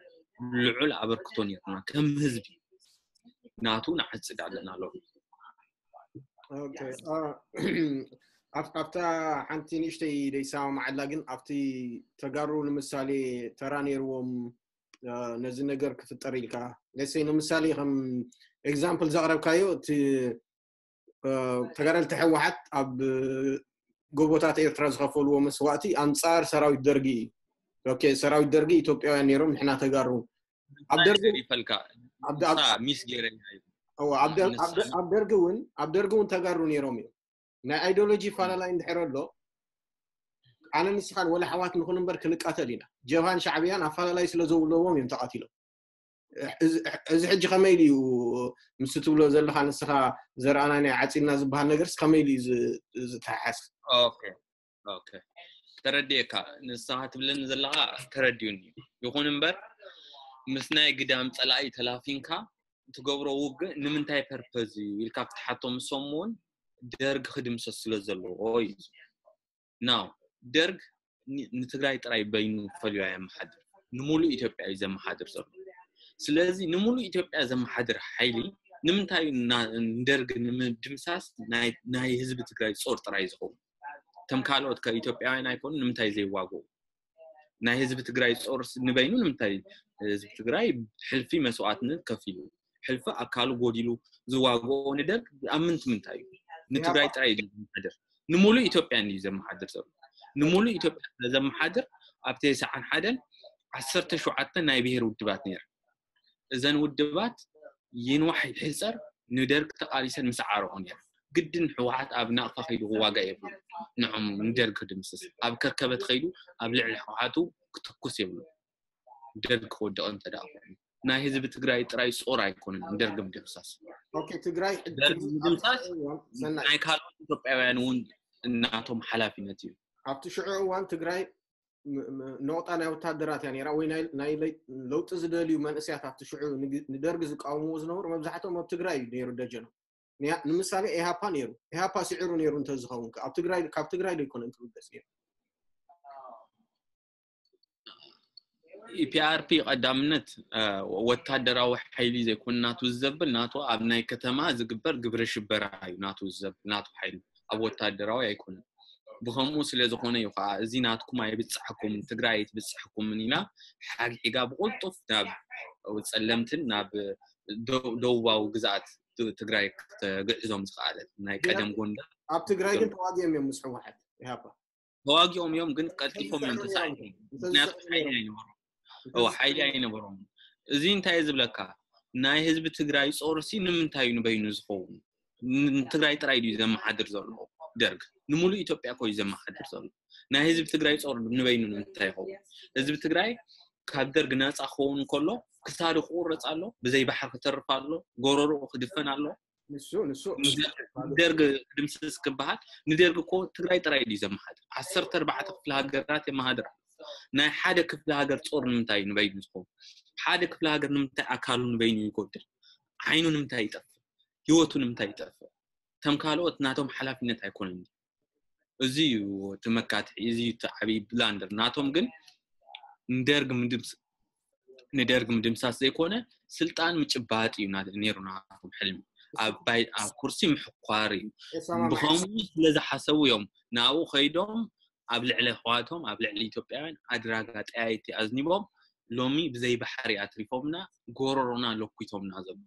ልዑል ኣበርክቶ ነይሩና ከም ህዝቢ ናቱ ንዓፅድ ኣለና ኣሎ። ኣብታ ሓንቲ ንእሽተይ ደይሰማማዓላ ግን ኣብቲ ተጋሩ ንምሳሌ ተራ ነይርዎም ነዚ ነገር ክፍጠር ኢልካ ለሰይ ንምሳሌ ከም ኤግዛምፕል ዘቕረብካዮ እቲ ተጋደልቲ ሕወሓት ኣብ ጎቦታት ኤርትራ ዝኸፈልዎ መስዋእቲ ኣንፃር ሰራዊት ደርጊ እዩ። ሰራዊት ደርጊ ኢትዮጵያውያን ነይሮም፣ ንሕና ተጋሩ ኣብ ደርጊ ይፈልካ ሚስ ገይረ ኣብ ደርጊ እውን ኣብ ደርጊ እውን ተጋሩ ነይሮም እዮም። ናይ ኣይዲዮሎጂ ፋላላይ እንድሕር ኣሎ ኣነ ንስኻን ወላ ኣሕዋት ንኹን እምበር ክንቃተል ኢና። ጀብሃን ሻዕብያን ኣፋላላይ ስለ ዘብለዎም እዮም ተቐቲሎም። እዚ ሕጂ ከመይ ኢሉ እዩ ምስ ትብሎ ዘለኻ ንስኻ ዘርኣና ናይ ዓፂድና ዝበሃል ነገርስ ከመይ ኢሉ እዩ ዝተሓሓዝ? ተረዲኤካ ንስኻ ትብለኒ ዘለኻ ተረዲኡኒ። ይኹን እምበር ምስ ናይ ግዳም ፀላኢ ተላፊንካ ትገብሮ ውግእ ንምንታይ ፐርፐዝ እዩ ኢልካ ክትሓቶ ምሶም እውን ደርግ ክድምሰስ ስለ ዘለዎ እዩ። ናው ደርግ ንትግራይ ጥራይ በይኑ ፈልዩ ኣየመሓድር፣ ንሙሉእ ኢትዮጵያ እዩ ዘመሓድር ዘሎ። ስለዚ ንሙሉእ ኢትዮጵያ ዘመሓድር ሓይሊ ንምንታይ ንደርግ ንምድምሳስ ናይ ህዝቢ ትግራይ ጾር ጥራይ ዝኸውን? ከም ካልኦት ከኢትዮጵያውያን ኣይኮኑ ንምንታይ ዘይዋግኡ? ናይ ህዝቢ ትግራይ ጾር ንበይኑ ንምንታይ ህዝቢ ትግራይ ሕልፊ መስዋዕትነት ከፊሉ ሕልፊ ኣካሉ ጎዲሉ ዝዋግኦ ንደርግ ኣብ ምንቲ ምንታይ እዩ? ንትግራይ ጥራይ እዩ ዘመሓድር፣ ንሙሉእ ኢትዮጵያ እዩ ዘመሓድር ዘሎ። ንሙሉእ ኢትዮጵያ ዘመሓድር ኣብ ተስዓን ሓደን ዓሰርተ ሸውዓተ ናይ ብሄር ውድባት ነይር። እዘን ውድባት ይንዋሕ ይሕፀር ንደርግ ተቃሊሰን ምስ ዓረቑ ነይር። ግድን ህወሓት ኣብ ናቕፋ ከይዱ ክዋጋእ የብሉ። ንዖም ንደርግ ክድምስስ ኣብ ከርከበት ከይዱ ኣብ ልዕሊ ህወሓቱ ክትኩስ የብሉ። ደርግ ክወድቕ እንተ ደኣ ኮይኑ ናይ ህዝቢ ትግራይ ጥራይ ጾር ኣይኮነን ንደርግ ምድምሳስ። ትግራይ ደርግ ምድምሳስ ናይ ካልኦት ኢትዮጵያውያን እውን እናቶም ሓላፊነት እዩ። ኣብቲ ሽዑ እዋን ትግራይ ነቑጣ ናይ ወታደራት እያ ነራ ወይ ናይ ለውጢ ዝደልዩ መንእስያት ኣብቲ ሽዑ ንደርግ ዝቃወምዎ ዝነበሩ መብዛሕትኦም ኣብ ትግራይ እዩ ነይሩ ደጀኖም። ንምሳሌ ኤሃፓ ነይሩ። ኤሃፓ ስዒሩ ነይሩ እንተዝኸውን ኣብ ትግራይ ካብ ትግራይ ዶ ይኮነን ክብገስ ነይሩ? ኢፒኣርፒ ቀዳምነት ወታደራዊ ሓይሊ ዘይኮነ ናቱ ዝዘብል ናቱ ኣብ ናይ ከተማ ዝግበር ግብረ ሽበራ እዩ ናቱ ዝዘብል ናቱ ሓይሊ ኣብ ወታደራዊ ኣይኮነን። ብኸምኡ ስለ ዝኾነ እዩ ከዓ እዚ ናትኩም ኣይብፅሐኩምን ትግራይ ኣይትብፅሐኩምን ኢላ ሓግሒጋ ብቁልጡፍ ናብ ፀለምትን ናብ ደቡባዊ ግዛኣት ትግራይ ክትግዕዞም ዝኸኣለት ናይ ቀደም ጎንደር ኣብ ትግራይ ግን ተዋጊኦም እዮም ምስ ህወሓት ኢሃፓ ተዋጊኦም እዮም፣ ግን ቀልጢፎም እዮም ተሳዒሮም። ምክንያቱ ሓይሊ ኣይነበሮም። እዎ ሓይሊ ኣይነበሮም። እዚ እንታይ እዩ ዝብለካ? ናይ ህዝቢ ትግራይ ጾርሲ ንምንታይ እዩ ንበይኑ ዝኸውን? ንትግራይ ጥራይ ድዩ ዘመሓድር ዘሎ ደርግ? ንሙሉእ ኢትዮጵያ እኮ እዩ ዘመሓድር ዘሎ። ናይ ህዝቢ ትግራይ ጾር ንበይኑ ንምንታይ ይኸውን? ህዝቢ ትግራይ ካብ ደርግ ነፃ ክኸውን ከሎ ክሳዱ ክቁረፅ ኣሎ፣ ብዘይ ባሕሪ ክተርፍ ኣሎ፣ ጎረርኡ ክድፈን ኣሎ። ንሱ ንሱ ደርግ ድምስስ ክበሃል ንደርግ እኮ ትግራይ ጥራይ ድዩ ዘመሓድር? ዓሰርተ ኣርባዕተ ክፍለ ሃገራት የመሃድር። ናይ ሓደ ክፍለ ሃገር ጾር ንምንታይ ንበይኑ ዝኸውን? ሓደ ክፍለ ሃገር ንምንታይ ኣካሉ ንበይኑ ይጎድል? ዓይኑ ንምንታይ ይጠፍእ? ህይወቱ ንምንታይ ይጠፍእ? ከም ካልኦት ናቶም ሓላፊነት ኣይኮነን። እዚ እዩ እቲ መካትሒ፣ እዚ እዩ እቲ ዓብዪ ብላንደር ናቶም። ግን ንደርግ ምድምስ ንደርግ ምድምሳስ ዘይኮነ ስልጣን ምጭባጥ እዩ ና- ነይሩ ናቶም ሕልሚ። ኣብ ባይ- ኣብ ኩርሲ ምሕኳር እዩ። ብኸምኡ ስለ ዝሓሰቡ እዮም ናብኡ ከይዶም ኣብ ልዕሊ ኣሕዋቶም ኣብ ልዕሊ ኢትዮጵያውያን ኣድራጋ ጠያይቲ ኣዝኒቦም ሎሚ ብዘይ ባሕሪ ኣትሪፎምና ጎረሮና ለኩቶምና ዘለዉ።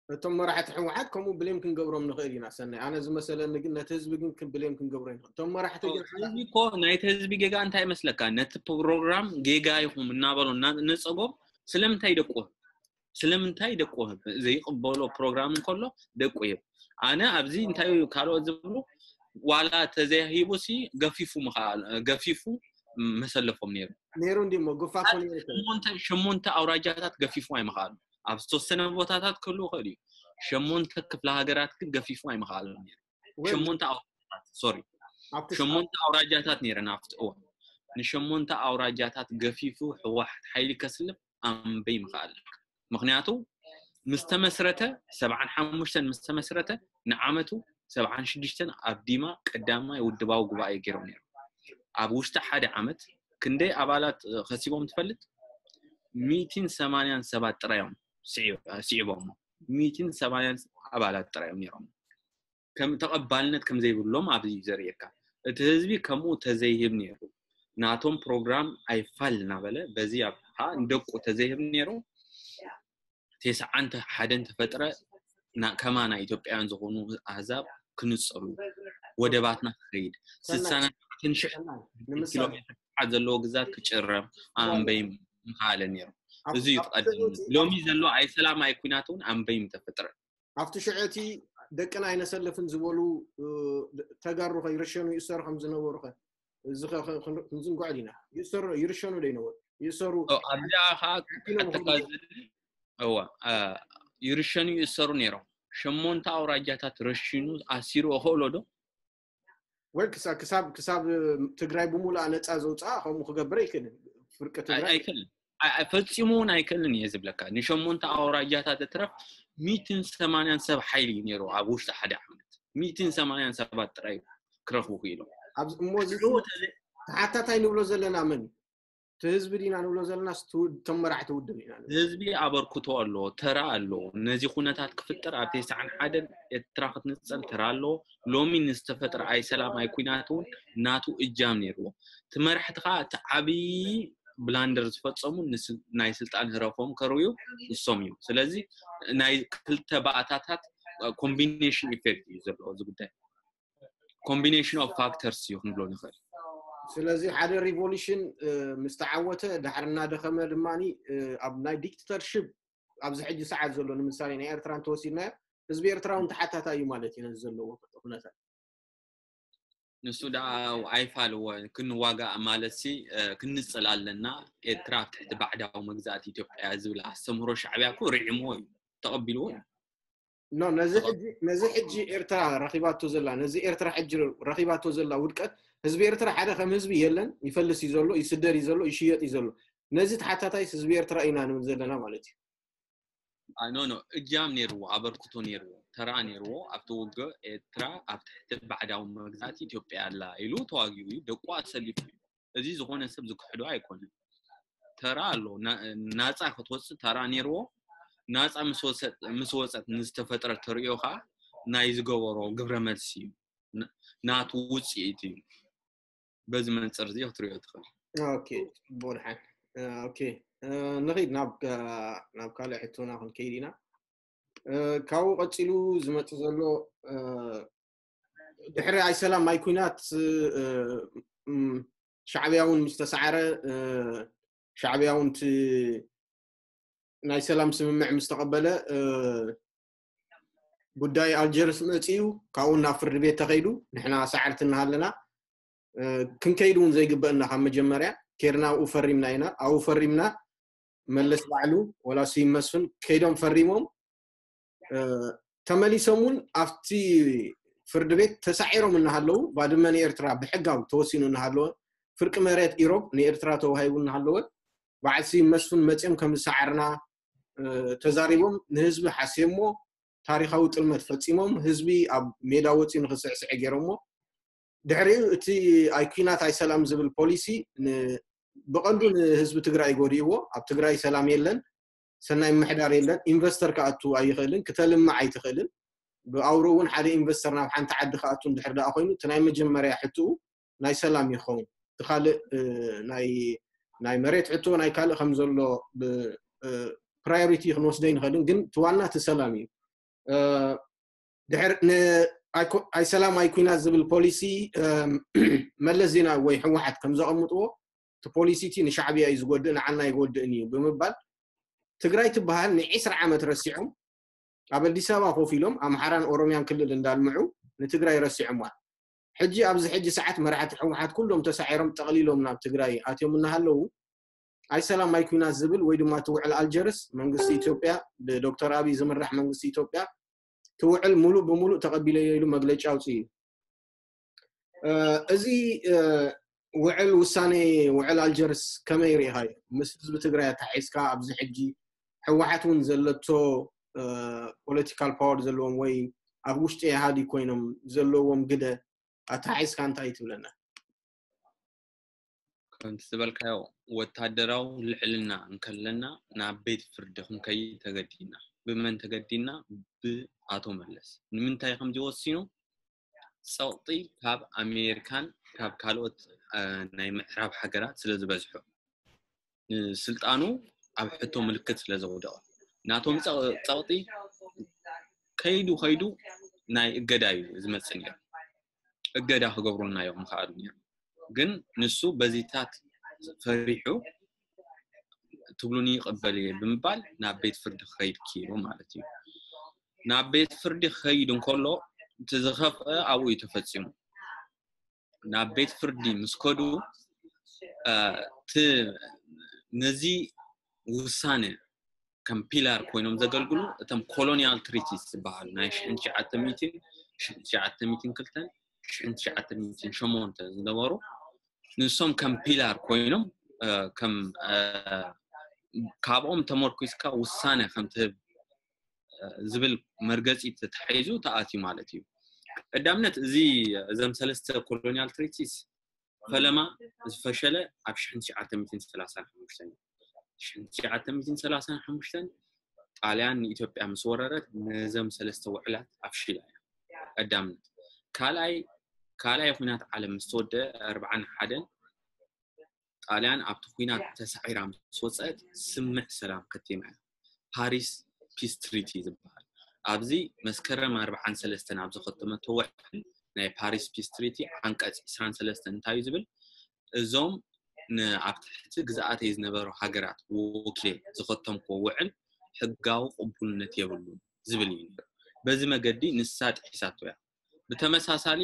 እቶም መራሕቲ ህወሓት ከምኡ ብሌም ክንገብሮም ንኽእል ኢና። ሰናይ ኣነ ዝመሰለኒ ግን ነቲ ህዝቢ ግን ብሌም ክንገብሮ ንኽእል። እቶም መራሕቲ ግን ህዝቢ እኮ ናይቲ ህዝቢ ጌጋ እንታይ ይመስለካ? ነቲ ፕሮግራም ጌጋ ኢኹም እናበሉ እናነፀጎም ስለምንታይ ደቁ ስለምንታይ ደቁ ዘይቅበሎ ፕሮግራም እንከሎ ደቁ ይብ ኣነ ኣብዚ እንታይ ካልኦት ዝብሉ ዋላ ተዘይሂቡ ሲ ገፊፉ ምኸኣል ገፊፉ መሰለፎም ነይሩ ነይሩ እንዲሞ ጉፋፎ ነይሩ ሸሞንተ ኣውራጃታት ገፊፉ ኣይምኸኣሉ ኣብ ዝተወሰነ ቦታታት ክህሉ ይኽእል እዩ። ሸሞንተ ክፍለ ሃገራት ግን ገፊፉ ኣይምኸኣሉ ነይሩ። ሸሞንተ ኣውራጃታት ሶሪ ሸሞንተ ኣውራጃታት ነይረን ኣብቲ እዋን። ንሸሞንተ ኣውራጃታት ገፊፉ ህወሓት ሓይሊ ከስልፍ ኣንበይ ምኸኣል። ምክንያቱ ምስ ተመስረተ ሰብዓን ሓሙሽተን ምስ ተመስረተ ንዓመቱ ሰብዓን ሽዱሽተን ኣብ ዲማ ቀዳማይ ውድባዊ ጉባኤ ገይሮም ነይሮም። ኣብ ውሽጢ ሓደ ዓመት ክንደይ ኣባላት ከሲቦም ትፈልጥ? ሚእትን ሰማንያን ሰባት ጥራይ እዮም ስዒቦም። ሚእትን ሰማንያን ኣባላት ጥራይ እዮም ነይሮም። ከም ተቐባልነት ከም ዘይብሎም ኣብዚ እዩ ዘርእየካ። እቲ ህዝቢ ከምኡ ተዘይህብ ነይሩ ናቶም ፕሮግራም ኣይፋል እናበለ በዚ ኣብ ከዓ ንደቁ ተዘይህብ ነይሩ። ቴስዓን ሓደን ተፈጥረ ከማና ኢትዮጵያውያን ዝኾኑ ኣህዛብ ክንፀሉ ወደባትና ክኸይድ ስሳን ኣርባዕተን ሽሕ ኪሎ ሜትር ስፍሓት ዘለዎ ግዛት ክጭረም ኣንበይም ምኸኣለ ነይሩ። እዚ እዩ ትቐደም ሎሚ ዘሎ ኣይሰላም ኣይኩናት እውን ኣንበይም ተፈጥረ። ኣብቲ ሽዑ እቲ ደቅና ኣይነሰልፍን ዝበሉ ተጋሩ ከ ይርሸኑ ይእሰሩ ከም ዝነበሩ ከ እዚ ክንዝንግዖ ዲና? ይእሰሩ ይርሸኑ ዶ ይነበሩ? ይእሰሩ ኣብዚኣ ከዓ ኣተካዝል እዋ ይርሸኑ ይእሰሩ ነይሮም። ሸሞንተ ኣውራጃታት ረሺኑ ኣሲሩ እኽእሎ ዶ? ወይ ክሳብ ክሳብ ክሳብ ትግራይ ብሙሉኣ ነፃ ዘውፅኣ ከምኡ ክገብር ኣይክእልን። ፍርቂ ትግራይ ኣይክእልን። ፈፂሙ እውን ኣይክእልን እየ ዝብለካ። ንሸሞንተ ኣውራጃታት እትረፍ ሚእትን ሰማንያን ሰብ ሓይሊ እዩ ነይሩ ኣብ ውሽጢ ሓደ ዓመት። ሚእትን ሰማንያን ሰባት ጥራይ ክረኽቡ ክኢሎም። እሞ ተሓታታይ ንብሎ ዘለና መን እዩ? እቲ ህዝቢ ዲና ንብሎ ዘለና እቶም መራሕቲ ውድብ ኢና። ህዝቢ ኣበርክቶ ኣለዎ፣ ተራ ኣለዎ። ነዚ ኩነታት ክፍጠር ኣብ ተስዓን ሓደን ኤርትራ ክትንጸል ተራ ኣለዎ። ሎሚ ንዝተፈጥረ ኣይሰላም ኣይኩናት እውን ናቱ እጃም ነይርዎ። እቲ መራሕቲ ከዓ እቲ ዓብዪ ብላንደር ዝፈጸሙ ናይ ስልጣን ህረፎም ከርውዩ ንሶም እዮም። ስለዚ ናይ ክልተ ባእታታት ኮምቢኔሽን ኢፌክት እዩ ዘለዎ እዚ ጉዳይ። ኮምቢኔሽን ኦፍ ፋክተርስ እዩ ክንብሎ ንኽእል። ስለዚ ሓደ ሪቮሉሽን ምስ ተዓወተ ዳሕር እናደኸመ ድማ ኣብ ናይ ዲክተተርሽፕ ኣብዚ ሕጂ ሰዓት ዘሎ ንምሳሌ ናይ ኤርትራ እንተወሲድናዮ ህዝቢ ኤርትራ እውን ተሓታታይ እዩ ማለት እዩ ነዚ ዘለዎ ኩነታት። ንሱ ደኣ ኣይፋልዎ ክንዋጋእ ማለት ሲ ክንጽል ኣለና። ኤርትራ ኣብ ትሕቲ ባዕዳዊ መግዛእቲ ኢትዮጵያ ዝብል ኣስተምህሮ ሻዕብያ እኮ ርዒምዎ እዩ ተቐቢልዎ እዩ። ኖ ነዚ ሕጂ ነዚ ሕጂ ኤርትራ ረኺባቶ ዘላ ነዚ ኤርትራ ሕጂ ረኺባቶ ዘላ ውድቀት ህዝቢ ኤርትራ ሓደ ከም ህዝቢ የለን ይፈልስ እዩ ዘሎ ይስደድ እዩ ዘሎ ይሽየጥ እዩ ዘሎ ነዚ ተሓታታይ ህዝቢ ኤርትራ ኢና ንብል ዘለና ማለት እዩ። ኖ ኖ እጃም ነይርዎ ኣበርክቶ ነይርዎ ተራ ነይርዎ ኣብቲ ውግእ ኤርትራ ኣብ ትሕቲ ባዕዳዊ መግዛእቲ ኢትዮጵያ ኣላ ኢሉ ተዋጊኡ እዩ ደቁ ኣሰሊፉ እዩ። እዚ ዝኾነ ሰብ ዝክሕዶ ኣይኮነን። ተራ ኣሎ ናፃ ክትወፅእ ተራ ነይርዎ። ናፃ ምስ ወፀት ንዝተፈጥረ ተርእዮ ከዓ ናይ ዝገበሮ ግብረ መልሲ እዩ ናቱ ውፅኢት እዩ። በዚ መንፅር እዚ ክትሪኦ ትኽእል። ኦኬ ጽቡቕ ድሓን ኦኬ ንኺድ ናብ ናብ ካልእ ሕቶና ክንከይድ ኢና። ካብኡ ቀፂሉ ዝመፅእ ዘሎ ድሕሪ ኣይሰላም ኣይኩናት ሻዕብያ እውን ምስ ተሳዕረ፣ ሻዕብያ እውን ናይ ሰላም ስምምዕ ምስ ተቐበለ፣ ጉዳይ ኣልጀርስ መፅኡ፣ ካብኡ ናብ ፍርዲ ቤት ተኸይዱ። ንሕና ሳዕርቲ እናሃለና ክንከይድ እውን ዘይግበእና፣ ካብ መጀመርያ ኬርና ኣብኡ ፈሪምና ኢና። ኣብኡ ፈሪምና፣ መለስ ባዕሉ፣ ወላ ስዩም መስፍን ከይዶም ፈሪሞም፣ ተመሊሶም እውን ኣብቲ ፍርዲ ቤት ተሳዒሮም እናሃለዉ፣ ባድመ ንኤርትራ ብሕጋዊ ተወሲኑ እናሃለወ፣ ፍርቂ መሬት ኢሮብ ንኤርትራ ተዋሂቡ እናሃለወ፣ በዓል ስዩም መስፍን መፅኦም ከም ዝሰዓርና ተዛሪቦም፣ ንህዝቢ ሓስዮሞ፣ ታሪኻዊ ጥልመት ፈፂሞም፣ ህዝቢ ኣብ ሜዳ ወፂኡ ንክስዕስዐ ገይሮሞ። ድሕሪኡ እቲ ኣይ ኩናት ኣይ ሰላም ዝብል ፖሊሲ፣ ብቐንዱ ንህዝቢ ትግራይ ጎዲእዎ። ኣብ ትግራይ ሰላም የለን፣ ሰናይ ምሕዳር የለን፣ ኢንቨስተር ክኣቱ ኣይኽእልን፣ ክተልምዕ ኣይትኽእልን። ብኣውሮ እውን ሓደ ኢንቨስተር ናብ ሓንቲ ዓዲ ክኣቱ እንድሕር ደኣ ኮይኑ፣ እቲ ናይ መጀመርያ ሕትኡ ናይ ሰላም ይኸውን። እቲ ካልእ ናይ መሬት ሕቶ፣ ናይ ካልእ ከም ዘሎ ፕራዮሪቲ ክንወስዶ ኣይንኽእልን፣ ግን እቲ ዋና እቲ ሰላም እዩ። ድሕር ኣይ ሰላም ኣይ ኩናት ዝብል ፖሊሲ መለስ ዜናዊ ወይ ህወሓት ከም ዘቐምጥዎ፣ እቲ ፖሊሲ እቲ ንሻዕብያ እዩ ዝጎድእ፣ ንዓና ኣይጎድእን እዩ ብምባል፣ ትግራይ ትበሃል ንዒስራ ዓመት ረሲዖም፣ ኣብ ኣዲስ ኣበባ ኮፍ ኢሎም ኣምሓራን ኦሮምያን ክልል እንዳልምዑ ንትግራይ ረሲዖምዋ። ሕጂ ኣብዚ ሕጂ ሰዓት መራሕቲ ህወሓት ኩሎም ተሳዒሮም ጠቕሊሎም ናብ ትግራይ ኣትዮም እናሃለዉ፣ ኣይ ሰላም ኣይ ኩናት ዝብል ወይ ድማ እቲ ውዕል ኣልጀርስ፣ መንግስቲ ኢትዮጵያ፣ ብዶክተር ኣብይ ዝምራሕ መንግስቲ ኢትዮጵያ፣ እቲ ውዕል ሙሉእ ብሙሉእ ተቐቢለዮ ኢሉ መግለጫ ኣውፅኡ እዩ። እዚ ውዕል፣ ውሳኔ ውዕል ኣልጀርስ ከመይ ርኢኻዮ? ምስ ህዝቢ ትግራይ ኣተሓሒዝካ፣ ኣብዚ ሕጂ ህወሓት እውን ዘለቶ ፖለቲካል ፓወር ዘለዎም ወይ ኣብ ውሽጢ ኢህኣዴግ ኮይኖም ዘለዎም ግደ ኣተሓሒዝካ እንታይ ትብለና? ከምቲ ዝበልካዮ፣ ወታደራዊ ልዕልና እንከለና ናብ ቤት ፍርዲ ክንከይድ ተገዲድና። ብመን ተገዲድና? ብኣቶ መለስ። ንምንታይ ከምዚ ወሲኑ? ፀቕጢ ካብ ኣሜሪካን ካብ ካልኦት ናይ ምዕራብ ሃገራት ስለ ዝበዝሑ፣ ንስልጣኑ ኣብ ሕቶ ምልክት ስለ ዘውደቐ፣ ናቶም ፀቕጢ ከይዱ ከይዱ ናይ እገዳ እዩ ዝመፅእ ነይሩ። እገዳ ክገብሩልና እዮም ምኽኣሉ ነይሩ። ግን ንሱ በዚታት ፈሪሑ፣ ትብሉኒ ይቕበል እየ ብምባል ናብ ቤት ፍርዲ ክኸይድ ክኢሉ ማለት እዩ። ናብ ቤት ፍርዲ ክኸይድ እንከሎ፣ እቲ ዝኸፍአ ኣብኡ እዩ ተፈፂሙ። ናብ ቤት ፍርዲ ምስ ከዱ፣ ነዚ ውሳነ ከም ፒላር ኮይኖም ዘገልግሉ እቶም ኮሎኒያል ትሪቲስ ዝበሃሉ፣ ናይ ሽሕን ትሽዓተ ሚእትን፣ ሽሕን ትሽዓተ ሚእትን ክልተን፣ ሽሕን ትሽዓተ ሚእትን ሸሞንተን ዝነበሩ፣ ንሶም ከም ፒላር ኮይኖም፣ ከም፣ ካብኦም ተመርኩስካ ውሳነ ከም ትህብ ዝብል መርገፂ ተታሒዙ ተኣትዩ ማለት እዩ። ቀዳምነት፣ እዚ፣ እዞም ሰለስተ ኮሎኒያል ትሪቲስ ፈለማ ዝፈሸለ ኣብ ሽሕን ትሽዓተ ሚእትን ሰላሳን ሓሙሽተን እዩ። ሽሕን ትሽዓተ ሚእትን ሰላሳን ሓሙሽተን ጣልያን ንኢትዮጵያ ምስ ወረረት፣ ነዞም ሰለስተ ውዕላት ኣፍሺላ እያ። ቀዳምነት። ካልኣይ፣ ካልኣይ ኩናት ዓለም ምስ ተወደአ፣ ኣርብዓን ሓደን፣ ጣልያን ኣብቲ ኩናት ተሳዒራ ምስ ወፀአት፣ ስምምዕ ሰላም ከቲማ እያ። ፓሪስ ፒስ ትሪቲ ዝበሃል። ኣብዚ መስከረም ኣርብዓን ሰለስተን ኣብ ዝኸተመቶ ውዕል፣ ናይ ፓሪስ ፒስ ትሪቲ ዓንቀፅ ዕስራን ሰለስተን እንታይ እዩ ዝብል? እዞም ኣብ ትሕቲ ግዝኣተይ ዝነበሩ ሃገራት ወኪለ ዝኸተምክዎ ውዕል ሕጋዊ ቅቡልነት የብሉን ዝብል እዩ ነይሩ። በዚ መገዲ ንሳ ጥሒሳቶ እያ። ብተመሳሳሊ፣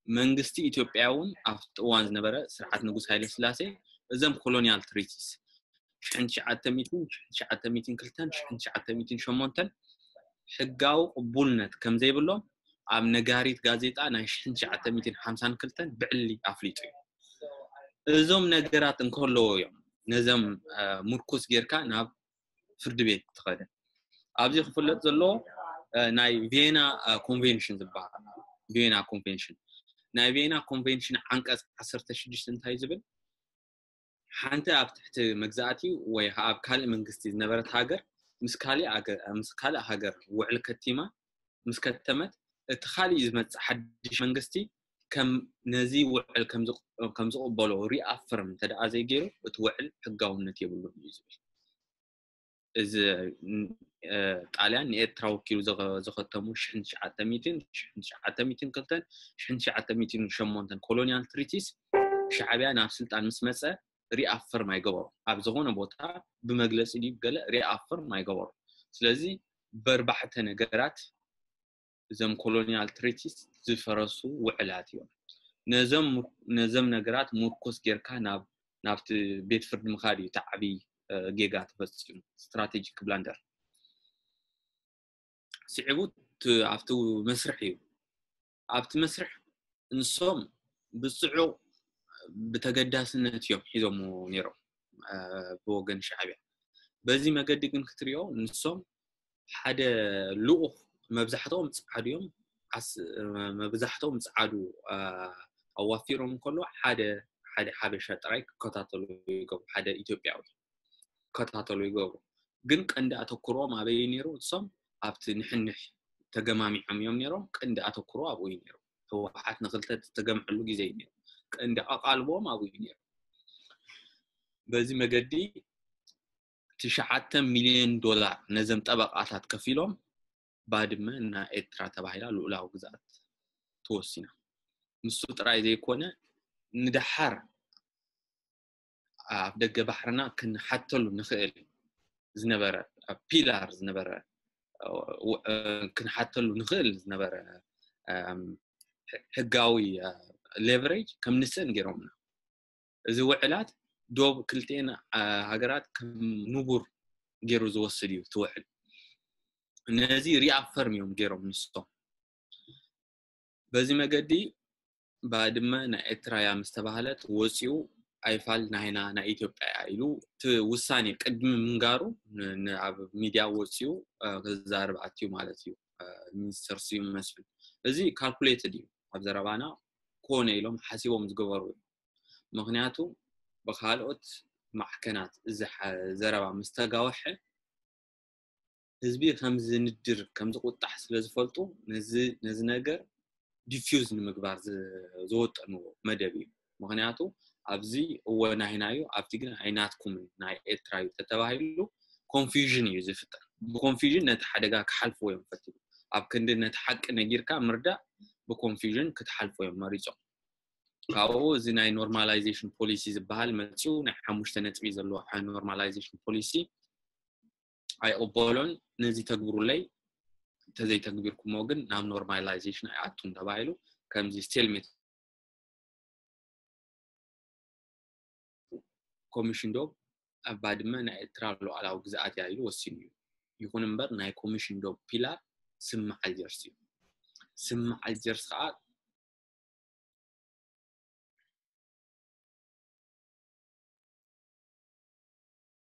መንግስቲ ኢትዮጵያ እውን ኣብቲ እዋን ዝነበረ ስርዓት ንጉስ ሃይለ ስላሴ፣ እዞም ኮሎኒያል ትሪቲስ፣ ሽሕን ትሽዓተ ሚእትን፣ ሽሕን ትሽዓተ ሚእትን ክልተን፣ ሽሕን ትሽዓተ ሚእትን ሸሞንተን፣ ሕጋዊ ቅቡልነት ከም ዘይብሎም ኣብ ነጋሪት ጋዜጣ ናይ ሽሕን ትሽዓተ ሚእትን ሓምሳን ክልተን ብዕሊ ኣፍሊጡ እዩ። እዞም ነገራት እንከለዎ እዮም ነዞም፣ እ፣ ምርኩስ ጌርካ ናብ ፍርዲ ቤት ትኸደ። ኣብዚ ክፍለጥ ዘለዎ፣ እ፣ ናይ ቬና፣ እ፣ ኮንቬንሽን ዝበሃል፣ ቬና ኮንቬንሽን፣ ናይ ቬና ኮንቬንሽን ዓንቀፅ ዓሰርተ ሽዱሽተ እንታይ ዝብል? ሓንቲ ኣብ ትሕቲ መግዛእቲ ወይ ኣብ ካልእ መንግስቲ ዝነበረት ሃገር ምስ ካልእ ሃገር፣ ምስ ካልእ ሃገር ውዕል ከቲማ ምስ ከተመት፣ እቲ ካልእ ዝመጽእ ሓድሽ መንግስቲ ከም ነዚ ውዕል ከም ዝቕ-፣ ከም ዝቕበሎ ሪኣፍርም እንተ ደኣ ዘይገይሩ፣ እቲ ውዕል ሕጋውነት የብሉን እዩ ዝብል። እዚ ጣልያን ንኤርትራ ወኪሉ ዝኸተሙ ሽሕን ትሽዓተ ሚእትን፣ ሽሕን ትሽዓተ ሚእትን ክልተን፣ ሽሕን ትሽዓተ ሚእትን ሸሞንተን colonial treaties ሻዕብያ ናብ ስልጣን ምስ መፀ reaffirm ኣይገበሩ። ኣብ ዝኾነ ቦታ ብመግለፂ ድዩ ገለ reaffirm ኣይገበሩ። ስለዚ በርባዕተ ነገራት እዞም colonial treaties ዝፈረሱ ውዕላት እዮም። ነዞም ነገራት ምርኮስ ጌርካ ናብ ናብቲ ቤት ፍርዲ ምኻድ እዩ እቲ ዓብዪ ጌጋ ተፈፂሙ፣ strategic blunder። ስዒቡ ኣብቲ መስርሕ እዩ። ኣብቲ መስርሕ ንሶም ብፅዑቕ ብተገዳስነት እዮም ሒዞምዎ ነይሮም ብወገን ሻዕብያ። በዚ መገዲ ግን ክትሪኦ ንሶም ሓደ ልኡኽ፣ መብዛሕትኦም ፃዓዱ እዮም፣ መብዛሕትኦም ፃዓዱ ኣዋፊሮም እንከሎ ሓደ ሓደ ሓበሻ ጥራይ ክከታተሉ ይገብሩ፣ ሓደ ኢትዮጵያዊ ክከታተሉ ይገብሩ። ግን ቀንዲ ኣተኩሮም ኣበይ ነይሩ? እሶም ኣብቲ ንሕንሕ ተገማሚዖም እዮም ነይሮም። ቀንዲ ኣተኩሮ ኣብኡ እዩ ነይሩ። ህወሓት ንክልተ ተገምዐሉ ግዜ እዩ ነይሩ። ቀንዲ ኣቓልቦም ኣብኡ እዩ ነይሩ። በዚ መገዲ ትሽዓተ ሚልዮን ዶላር ነዘም ጠበቃታት ከፊሎም ባድመ ናይ ኤርትራ ተባሂላ ልኡላዊ ግዝኣት ተወሲና። ንሱ ጥራይ ዘይኮነ ንደሓር ኣብ ደገ ባሕርና ክንሓተሉ ንኽእል ዝነበረ ፒላር ዝነበረ ክንሓተሉ ንኽእል ዝነበረ ሕጋዊ leverage ከም ንስእን ገይሮምና። እዚ ውዕላት ዶብ ክልቲኤን ሃገራት ከም ንቡር ገይሩ ዝወስድ እዩ ትውዕል። ነዚ reaffirm እዮም ገይሮም ንሶም። በዚ መገዲ ባድመ ናይ ኤርትራ እያ ምስ ተባህለት ወፂኡ ኣይፋል ናይና ናይ ኢትዮጵያ እያ ኢሉ እቲ ውሳኔ ቅድሚ ምንጋሩ ኣብ ሚድያ ወፂኡ ክዛረብ ኣትዩ ማለት እዩ ሚኒስተር ስዩም መስፍን። እዚ calculated እዩ። ኣብ ዘረባና ኮነ ኢሎም ሓሲቦም ዝገበሩ እዩ። ምክንያቱ ብካልኦት ማዕከናት እዚ ዘረባ ምስ ተጋወሐ ህዝቢ ከም ዝንድር ከም ዝቁጣሕ ስለ ዝፈልጡ ነዚ ነገር diffuse ንምግባር ዝወጠንዎ መደብ እዩ። ምክንያቱ ኣብዚ እወ ናይና እዩ፣ ኣብቲ ግን ኣይናትኩምን ናይ ኤርትራ እዩ ተተባሂሉ confusion እዩ ዝፍጠር። ብ confusion ነቲ ሓደጋ ክሓልፍዎ እዮም ፈቲኑ። ኣብ ክንዲ ነቲ ሓቂ ነጊርካ ምርዳእ ብ confusion ክትሓልፎ እዮም መሪጾም። ካብኡ እዚ ናይ normalization policy ዝበሃል መፂኡ ናይ ሓሙሽተ ነጥቢ ዘለዎ normalization policy ኣይቕበሎን። ነዚ ተግብሩለይ፣ እንተዘይተግቢርኩሞ ግን ናብ normalization ኣይኣቱን ተባሂሉ ከምዚ stalemate ኮሚሽን ዶብ ኣብ ባድመ ናይ ኤርትራ ሉዓላዊ ግዝኣት እያ ኢሉ ወሲኑ እዩ። ይኹን እምበር ናይ ኮሚሽን ዶብ ፒላር ስምምዕ ኣልጀርስ እዩ። ስምምዕ ኣልጀርስ ከዓ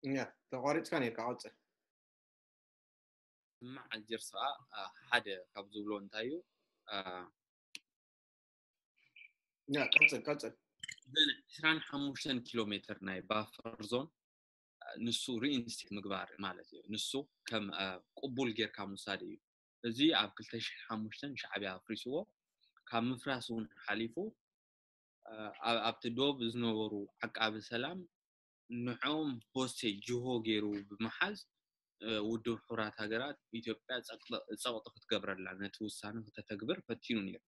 እያ ተቋሪፅካ ነርካ። ቀፅል። ስምምዕ ኣልጀርስ ከዓ ሓደ ካብ ዝብሎ እንታይ እዩ? ያ ቀፅል ቀፅል። ዕስራን ሓሙሽተን ኪሎ ሜትር ናይ buffer zone ንሱ reinstate ምግባር ማለት እዩ። ንሱ ከም ቅቡል ጌርካ ምውሳድ እዩ። እዚ ኣብ ክልተ ሽሕን ሓሙሽተን ሻዕብያ ኣፍሪስዎ። ካብ ምፍራስ እውን ሓሊፉ ኣብቲ ዶብ ዝነበሩ ዓቃቢ ሰላም ንዕኦም hostage ጅሆ ገይሩ ብምሓዝ ውድብ ሕቡራት ሃገራት ኢትዮጵያ ፀቕጢ ክትገብረላ ነቲ ውሳነ ክተተግብር ፈቲኑ ነይሩ።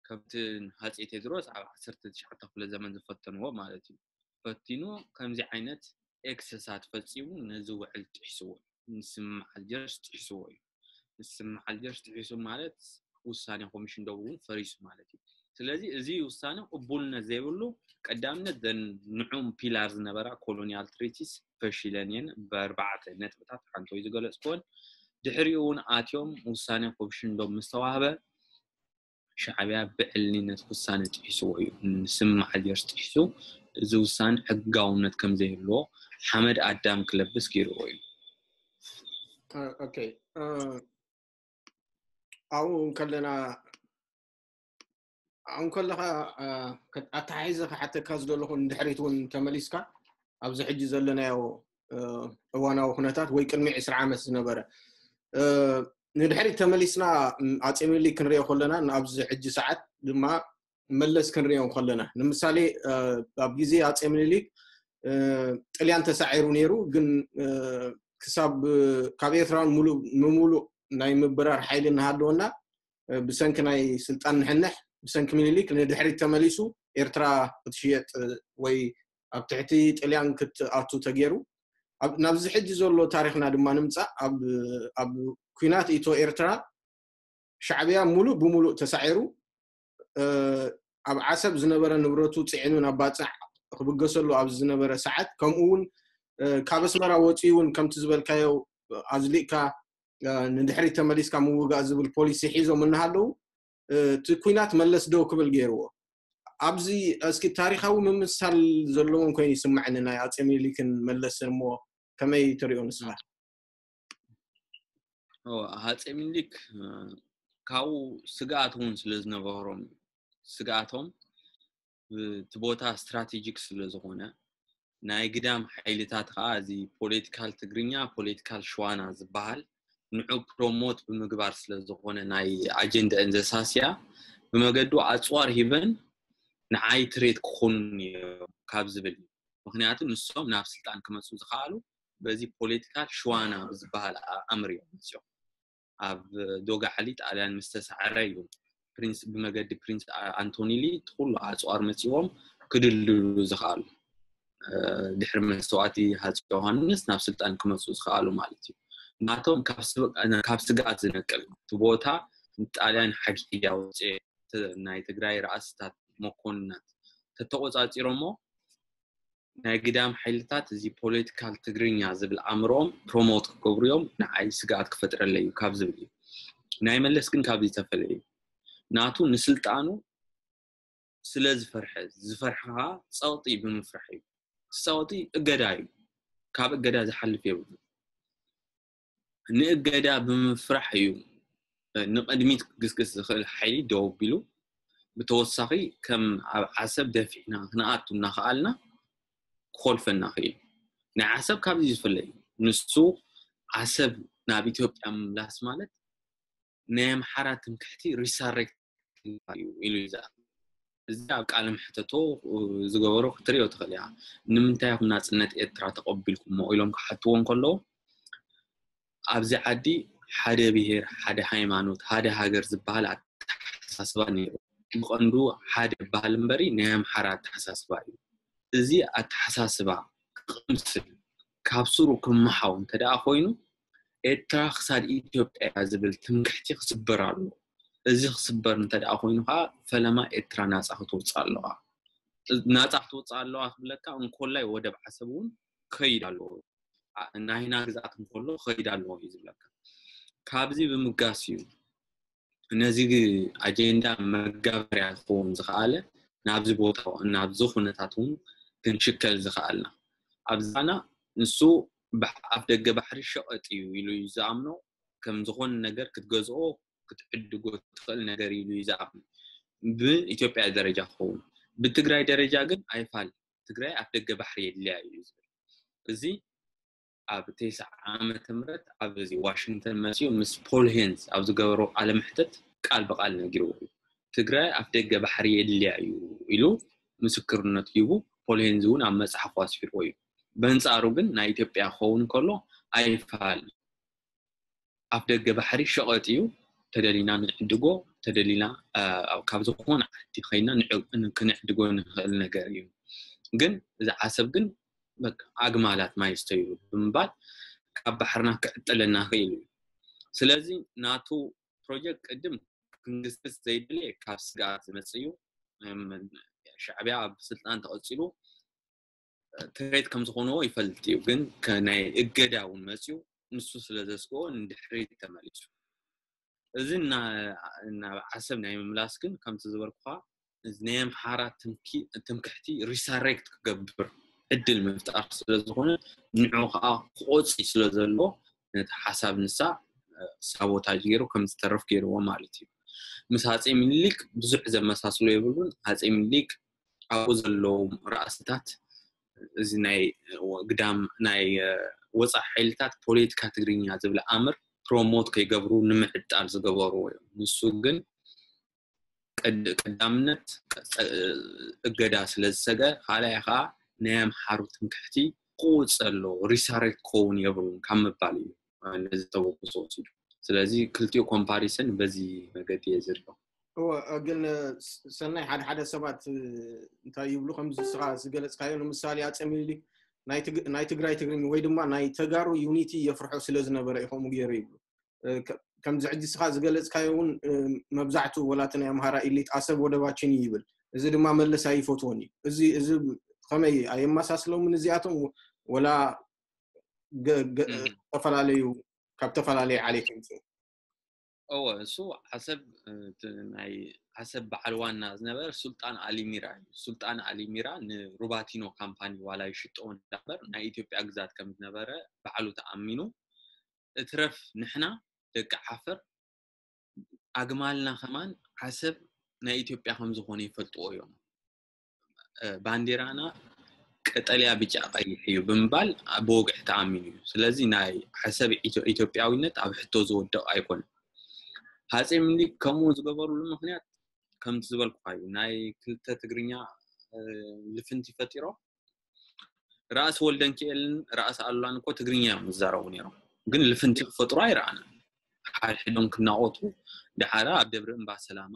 ከምቲ ሃፀይ ቴድሮስ ኣብ ዓሰርተ ትሽዓተ ክፍለ ዘመን ዝፈተንዎ ማለት እዩ። ፈቲኑ ከምዚ ዓይነት excess ኣት ፈፂሙ ነዚ ውዕል ጥሒስዎ፣ ንስምምዕ ኣልጀርስ ጥሒስዎ እዩ። ንስምምዕ ኣልጀርስ ጥሒሱ ማለት ውሳኔ ኮሚሽን ደቡብ እውን ፈሪሱ ማለት እዩ። ስለዚ እዚ ውሳነ ቅቡልነት ዘይብሉ ቀዳምነት ዘን ንዑም ፒላር ዝነበራ colonial treaties ፈሺለን እየን። ብኣርባዕተ ነጥብታት ሓንቶ እዩ ዝገለፅኩወን። ድሕሪኡ እውን ኣትዮም ውሳኔ ኮሚሽን ደቡብ ምስ ተዋህበ ሻዕብያ ብዕልነት ውሳነ ጥሒስዎ እዩ። ንስምምዕ ኣልጀርስ ጥሒሱ እዚ ውሳነ ሕጋውነት ከም ዘይህልዎ ሓመድ ኣዳም ክለብስ ገይርዎ እዩ። ኦኬ ኣብኡ ከለና ኣብኡ ከለካ ኣተሓሒዘ ክሓተካ ዝደለኹ ንድሕሪት እውን ተመሊስካ ኣብዚ ሕጂ ዘለናዮ እዋናዊ ኩነታት ወይ ቅድሚ ዕስራ ዓመት ዝነበረ ንድሕሪት ተመሊስና ኣጼ ምኒልክ ክንሪኦ ከለና ኣብዚ ሕጂ ሰዓት ድማ መለስ ክንሪኦ ከለና ንምሳሌ ኣብ ግዜ ኣጼ ምኒልክ ጥልያን ተሳዒሩ ነይሩ ግን ክሳብ ካብ ኤርትራን ሙሉእ ንሙሉእ ናይ ምብራር ሓይሊ እናሃለወና ብሰንኪ ናይ ስልጣን ንሕንሕ ብሰንኪ ምኒልክ ንድሕሪት ተመሊሱ ኤርትራ ክትሽየጥ ወይ ኣብ ትሕቲ ጥልያን ክትኣቱ ተገይሩ። ናብዚ ሕጂ ዘሎ ታሪኽና ድማ ንምፃእ ኣብ ኩናት ኢትዮ ኤርትራ ሻዕብያ ሙሉእ ብሙሉእ ተሳዒሩ ኣብ ዓሰብ ዝነበረ ንብረቱ ፅዒኑ ናብ ባፅዕ ክብገሰሉ ኣብ ዝነበረ ሰዓት ከምኡ እውን ካብ ኣስመራ ወፂኡ እውን ከምቲ ዝበልካዮ ኣዝሊእካ ንድሕሪት ተመሊስካ ምውጋእ ዝብል ፖሊሲ ሒዞም እናሃለዉ እቲ ኩናት መለስ ደው ክብል ገይርዎ። ኣብዚ እስኪ ታሪኻዊ ምምሳል ዘለዎም ኮይኑ ይስምዐኒ ናይ ኣጼ ሚኒሊክን መለስን እሞ ከመይ ትሪኦ ንስኻ? ኣጼ ሚኒሊክ ካብኡ ስግኣት እውን ስለ ዝነበሮም ስግኣቶም እቲ ቦታ ስትራቴጂክ ስለ ዝኾነ ናይ ግዳም ሓይልታት ከዓ እዚ ፖለቲካል ትግርኛ ፖለቲካል ሽዋና ዝበሃል ንዑ ፕሮሞት ብምግባር ስለ ዝኾነ ናይ ኣጀንዳአን ዘሳስያ ብመገዱ ኣፅዋር ሂበን ንዓይ ትሬት ክኾኑን እዮም ካብ ዝብል እዩ። ምክንያቱ ንሶም ናብ ስልጣን ክመፁ ዝኸኣሉ በዚ ፖለቲካል ሽዋና ብዝበሃል ኣምር እዮም መፅኦም። ኣብ ዶጋዕሊ ጣልያን ምስ ተሳዕረ እዩ ፕሪንስ ብመገዲ ፕሪንስ ኣንቶኒሊ እቲ ኩሉ ኣፅዋር መፂዎም ክድልድሉ ዝኸኣሉ። ድሕሪ መስተዋእቲ ሃፀ ዮሃንስ ናብ ስልጣን ክመፁ ዝኸኣሉ ማለት እዩ። ናቶም ካብ ስግኣት ዝነቅል እቲ ቦታ ንጣልያን ሓጊያ ውፅኤ ናይ ትግራይ ራእስታት መኮንናት ተተቆፃፂሮሞ ናይ ግዳም ሓይልታት እዚ ፖለቲካል ትግርኛ ዝብል ኣእምሮኦም ፕሮሞት ክገብሩ እዮም ንዓይ ስግኣት ክፈጥረለይ እዩ ካብ ዝብል እዩ። ናይ መለስ ግን ካብዚ ዝተፈለየ እዩ። ናቱ ንስልጣኑ ስለ ዝፈርሐ ዝፈርሐ ከዓ ፀቕጢ ብምፍራሕ እዩ። እቲ ፀቕጢ እገዳ እዩ። ካብ እገዳ ዝሓልፍ የብሉ። ንእገዳ ብምፍራሕ እዩ ንቕድሚት ክግስግስ ዝኽእል ሓይሊ ደው ኣቢሉ። ብተወሳኺ ከም ኣብ ዓሰብ ደፊዕና ክንኣቱ እናኸኣልና ክኾልፈና ክእል። ናይ ዓሰብ ካብዚ ዝፍለ እዩ። ንሱ ዓሰብ ናብ ኢትዮጵያ ምምላስ ማለት ናይ ኣምሓራ ትምክሕቲ ሪሳሬክት እዩ ኢሉ ይዛረብ። እዚ ኣብ ቃለ መሕተቶ ዝገበሮ ክትሪኦ ትኽእል እያ። ንምንታይ ኢኹም ናፅነት ኤርትራ ተቐቢልኩሞ ኢሎም ክሓትዎ እንከለዉ ኣብዚ ዓዲ ሓደ ብሄር፣ ሓደ ሃይማኖት፣ ሓደ ሃገር ዝበሃል ኣተሓሳስባ ነይሩ። ብቐንዱ ሓደ በሃል እምበሪ ናይ ኣምሓራ ኣተሓሳስባ እዩ። እዚ ኣተሓሳስባ ክቕምስል ካብ ስሩ ክመሓው እንተ ደኣ ኮይኑ ኤርትራ ክሳድ ኢትዮጵያ ዝብል ትምክሕቲ ክስበር ኣለዎ። እዚ ክስበር እንተ ደኣ ኮይኑ ከዓ ፈለማ ኤርትራ ናፃ ክትወፅእ ኣለዋ። ናፃ ክትወፅእ ኣለዋ ክብለካ እንኮላይ ወደብ ዓሰብ እውን ከይድ ኣለዎ። ናይና ግዝኣት እንከሎ ከይድ ኣለዎ እዩ ዝብለካ። ካብዚ ብምጋስ እዩ ነዚ ኣጀንዳ መጋበርያ ክኸውን ዝኸኣለ ናብዚ ቦታ ናብዚ ኩነታት እውን ክንሽከል ዝኸኣልና። ኣብዛና ንሱ ኣፍ ደገ ባሕሪ ሸቐጥ እዩ ኢሉ እዩ ዝኣምኖ። ከም ዝኾነ ነገር ክትገዝኦ ክትዕድጎ ትኽእል ነገር ኢሉ እዩ ዝኣምን። ብኢትዮጵያ ደረጃ ክኸውን ብትግራይ ደረጃ ግን ኣይፋል ትግራይ ኣፍ ደገ ባሕሪ የድልያ እዩ ዝብል። እዚ ኣብ ተስዓ ዓመተ ምህረት ኣብ እዚ ዋሽንግተን መፂኡ ምስ ፖል ሄንዝ ኣብ ዝገበሮ ቃለ መሕተት ቃል ብቃል ነጊርዎ እዩ። ትግራይ ኣፍ ደገ ባሕሪ የድልያ እዩ ኢሉ ምስክርነት ሂቡ። ፖል ሄንዝ እውን ኣብ መፅሓፉ ኣስፊርዎ እዩ። በንፃሩ ግን ናይ ኢትዮጵያ ክኸውን ከሎ ኣይፋል ኣፍ ደገ ባሕሪ ሸቐጥ እዩ። ተደሊና ንዕድጎ ተደሊና ካብ ዝኾነ ዓዲ ኸይና ክንዕድጎ ንኽእል ነገር እዩ። ግን እዚ ዓሰብ ግን ኣግማላት ማይ ይስተዩ ብምባል ካብ ባሕርና ክዕጥለና ክእል እዩ። ስለዚ ናቱ ፕሮጀክት ቅድም ክንግስግስ ዘይደልየ ካብ ስግኣት ዝመፅእ እዩ። ሻዕብያ ኣብ ስልጣን ተቐፂሉ ትሬት ከም ዝኾንዎ ይፈልጥ እዩ። ግን ናይ እገዳ እውን መፅዩ ንሱ ስለ ዘስግኦ ንድሕሪት ተመሊሱ። እዚ ናብ ዓሰብ ናይ ምምላስ ግን ከምቲ ዝበልኩኻ ናይ ኣምሓራ ትምክሕቲ ሪሳሬክት ክገብር ዕድል ምፍጣር ስለ ዝኾነ ንዑ ከዓ ክቆፂ ስለ ዘለዎ ነቲ ሓሳብ ንሳ ሳቦታጅ ገይሩ ከም ዝተርፍ ገይርዎ ማለት እዩ። ምስ ኣጼ ሚኒሊክ ብዙሕ ዘመሳስሎ የብሉን። ኣጼ ሚኒሊክ ኣብኡ ዘለዉ ራእስታት እዚ ናይ ግዳም ናይ ወፃኢ ሓይልታት ፖለቲካ ትግርኛ ዝብል ኣምር ፕሮሞት ከይገብሩ ንምዕጣል ዝገበርዎ እዮም። ንሱ ግን ቀዳምነት እገዳ ስለ ዝሰገ ካልኣይ ከዓ ናይ ኣምሓሩ ትምክሕቲ ክቕውፅ ኣሎ፣ ሪሳሬት ክኸውን የብሉን ካብ ምባል እዩ ነዚ ተበግሶ ወሲዱ። ስለዚ ክልቲኡ ኮምፓሪሰን በዚ መገዲ እየ ዝሪኦ። እወ፣ ግን ሰናይ፣ ሓደ ሓደ ሰባት እንታይ ይብሉ፣ ከምዚ ንስኻ ዝገለፅካዮ፣ ንምሳሌ ኣፀ ሚኒሊክ ናይ ትግራይ ትግርኛ ወይ ድማ ናይ ተጋሩ ዩኒቲ የፍርሖ ስለ ዝነበረ እዩ ከምኡ ገይሩ ይብሉ። ከምዚ ሕጂ ንስኻ ዝገለፅካዮ እውን መብዛሕትኡ ወላ እቲ ናይ ኣምሃራ ኢሊት ኣሰብ ወደባችን እዩ ይብል። እዚ ድማ መለስ ኣይፈትዎን እዩ። እዚ እዚ ከመይ ኣየመሳስሎምን እዚኣቶም፣ ወላ ዝተፈላለዩ ካብ ዝተፈላለዩ ዓሌት ይምፅኡ? እወ፣ እሱ ዓሰብ ናይ ዓሰብ በዓል ዋና ዝነበረ ሱልጣን ኣሊሚራ እዩ። ሱልጣን ኣሊሚራ ንሩባቲኖ ካምፓኒ ዋላ ይሽጦ እንዳበር ናይ ኢትዮጵያ ግዛት ከም ዝነበረ ባዕሉ ተኣሚኑ፣ እትረፍ ንሕና ደቂ ዓፈር ኣግማልና ከማን ዓሰብ ናይ ኢትዮጵያ ከም ዝኾነ ይፈልጥዎ እዮም። ባንዴራና ቀጠልያ፣ ብጫ፣ ቀይሕ እዩ ብምባል ብወግዒ ተኣሚኑ እዩ። ስለዚ ናይ ዓሰብ ኢትዮጵያዊነት ኣብ ሕቶ ዝወድቕ ኣይኮነን። ሃፀይ ምኒልክ ከምኡ ዝገበሩሉ ምክንያት ከምቲ ዝበልኩካ እዩ። ናይ ክልተ ትግርኛ ልፍንቲ ፈጢሮም ራእሲ ወልደንኪኤልን ራእሲ ኣሉላን እኮ ትግርኛ እዮም ዝዛረቡ ነይሮም፣ ግን ልፍንቲ ክፈጥሩ ኣይረኣናን። ሓድሕዶም ክናቆቱ ደሓራ ኣብ ደብሪ እምባ ሰላማ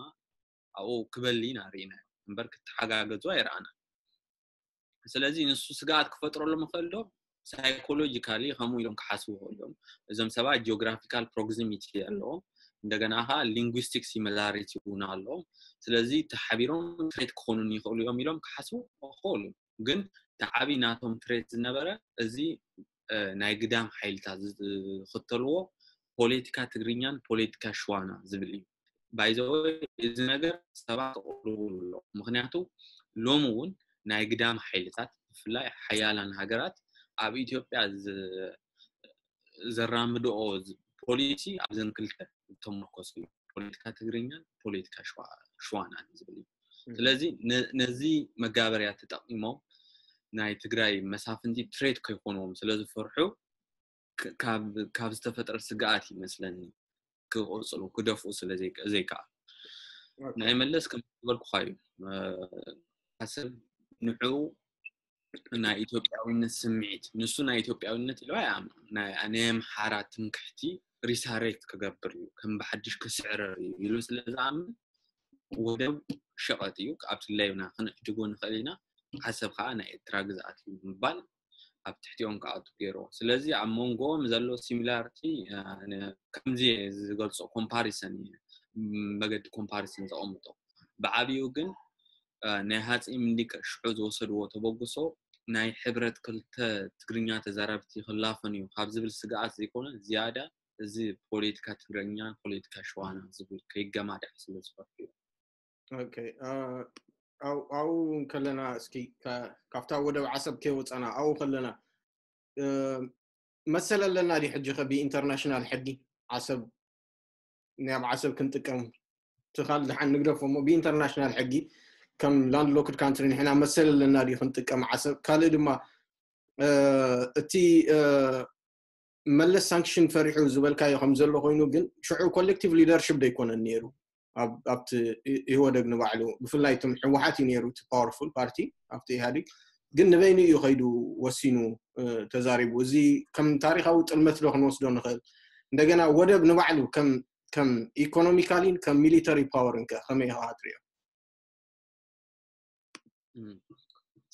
ኣብኡ ክበሊ ኢና ርኢናዮ እምበር ክተሓጋገዙ ኣይረኣናን። ስለዚ ንሱ ስግኣት ክፈጥረሎም ይኽእል ዶ? ሳይኮሎጂካሊ ከምኡ ኢሎም ክሓስቡ ይኽእሉ እዮም። እዞም ሰባት ጂኦግራፊካል ፕሮክሲሚቲ ኣለዎም፣ እንደገና ከዓ ሊንጉስቲክ ሲሚላሪቲ እውን ኣለዎም። ስለዚ ተሓቢሮም ትሬት ክኾኑን ይኽእሉ እዮም ኢሎም ክሓስቡ ይኽእሉ። ግን ተዓቢ ናቶም ትሬት ዝነበረ እዚ ናይ ግዳም ሓይልታት ዝኽተልዎ ፖለቲካ ትግርኛን ፖለቲካ ሽዋና ዝብል እዩ። ባይዘወይ እዚ ነገር ሰባት ተቆልቡ ኣሎ። ምክንያቱ ሎሚ እውን ናይ ግዳም ሓይልታት ብፍላይ ሓያላን ሃገራት ኣብ ኢትዮጵያ ዘራምድኦ ፖሊሲ ኣብዘን ክልተ ዝተመርኮሱ እዩ። ፖለቲካ ትግርኛን ፖለቲካ ሽዋናን ዝብል እዩ። ስለዚ ነዚ መጋበርያ ተጠቂሞም ናይ ትግራይ መሳፍንቲ ትሬት ከይኮንዎም ስለዝፈርሑ ካብ ዝተፈጥረ ስግኣት ይመስለኒ ክቆፅሉ ክደፍኡ ስለ ዘይከኣል። ናይ መለስ ከም ዝበልኩካ እዩ። ዓሰብ ንዕኡ ናይ ኢትዮጵያዊነት ስምዒት፣ ንሱ ናይ ኢትዮጵያዊነት ኢሉ ኣይኣምን። ናይ ኣምሓራ ትምክሕቲ ሪሳሬት ክገብር እዩ፣ ከም ብሓድሽ ክስዕረር እዩ ኢሉ ስለ ዝኣምን ወደብ ሸቐጥ እዩ፣ ኣብቲ ሌብና ክንዕድጎ ንኽእል ኢና፣ ዓሰብ ከዓ ናይ ኤርትራ ግዝኣት እዩ ምባል ኣብ ትሕቲኦም ክኣቱ ገይርዎ። ስለዚ ኣብ መንጎኦም ዘሎ ሲሚላሪቲ ከምዚ ዝገልፆ ኮምፓሪሰን እዩ፣ መገዲ ኮምፓሪሰን ዘቐምጦ። ብዓብኡ ግን ናይ ሃፀይ ምኒልክ ሽዑ ዝወሰድዎ ተበግሶ ናይ ሕብረት ክልተ ትግርኛ ተዛረብቲ ክላፈን እዩ ካብ ዝብል ስግኣት ዘይኮነ ዝያዳ እዚ ፖለቲካ ትግርኛን ፖለቲካ ሸዋና ዝብል ከይገማዳዕ ስለ ዝፈርሑ እዩ። ኣብኡ ከለና እስኪ ካብታ ወደብ ዓሰብ ከይወፃና ኣብኡ ከለና መሰል ኣለና ዲ ሕጂ ከ ብኢንተርናሽናል ሕጊ ዓሰብ ናይ ኣብ ዓሰብ ክንጥቀም ትኻል ድሓን ንግደፎ እሞ ብኢንተርናሽናል ሕጊ ከም ላንድ ሎክድ ካንትሪ ንሕና መሰል ኣለና ዲ ክንጥቀም ዓሰብ ካልእ ድማ እቲ መለስ ሳንክሽን ፈሪሑ ዝበልካዮ ከም ዘሎ ኮይኑ ግን ሽዑ ኮሌክቲቭ ሊደርሽፕ ዶ ኣይኮነን ነይሩ ኣብቲ ኢህወደግ ንባዕሉ ብፍላይ እቶም ህወሓት እዩ ነይሩ እቲ ፓወርፉል ፓርቲ ኣብቲ ኢህኣዴግ ግን ንበይኑ እዩ ከይዱ ወሲኑ ተዛሪቡ። እዚ ከም ታሪካዊ ጥልመት ዶ ክንወስዶ ንኽእል? እንደገና ወደብ ንባዕሉ ከም ኢኮኖሚካሊን ከም ሚሊተሪ ፓወርን ከ ከመይ ኢኻ ትሪኦ?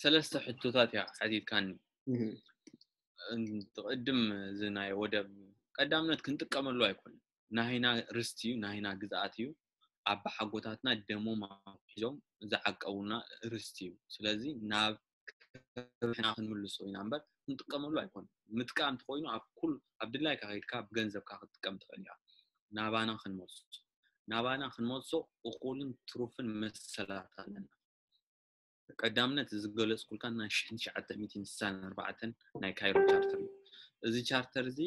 ሰለስተ ሕቶታት እያ ሓቲትካኒ። ትቕድም እዚ ናይ ወደብ ቀዳምነት ክንጥቀመሉ ኣይኮነን። ናሂና ርስቲ እዩ፣ ናሂና ግዝኣት እዩ። ኣባሓጎታትና ደሞም ኣውሒዞም ዝዓቀቡና ርስቲ እዩ። ስለዚ ናብ ክብርና ክንምልሶ ኢና እምበር ክንጥቀመሉ ኣይኮነን። ምጥቃም እንተኾይኑ ኣብ ኩል ኣብ ድላይካ ከይድካ ብገንዘብካ ክትጥቀም ትኽእል ኢኻ። ናባና ክንመልሶ ናባና ክንመልሶ እኹልን ትሩፍን መሰላት ኣለና። ቀዳምነት ዝገለጽኩልካ ናይ ሽሕን ትሽዓተ ሚእትን ስሳን ኣርባዕተን ናይ ካይሮ ቻርተር እዩ። እዚ ቻርተር እዚ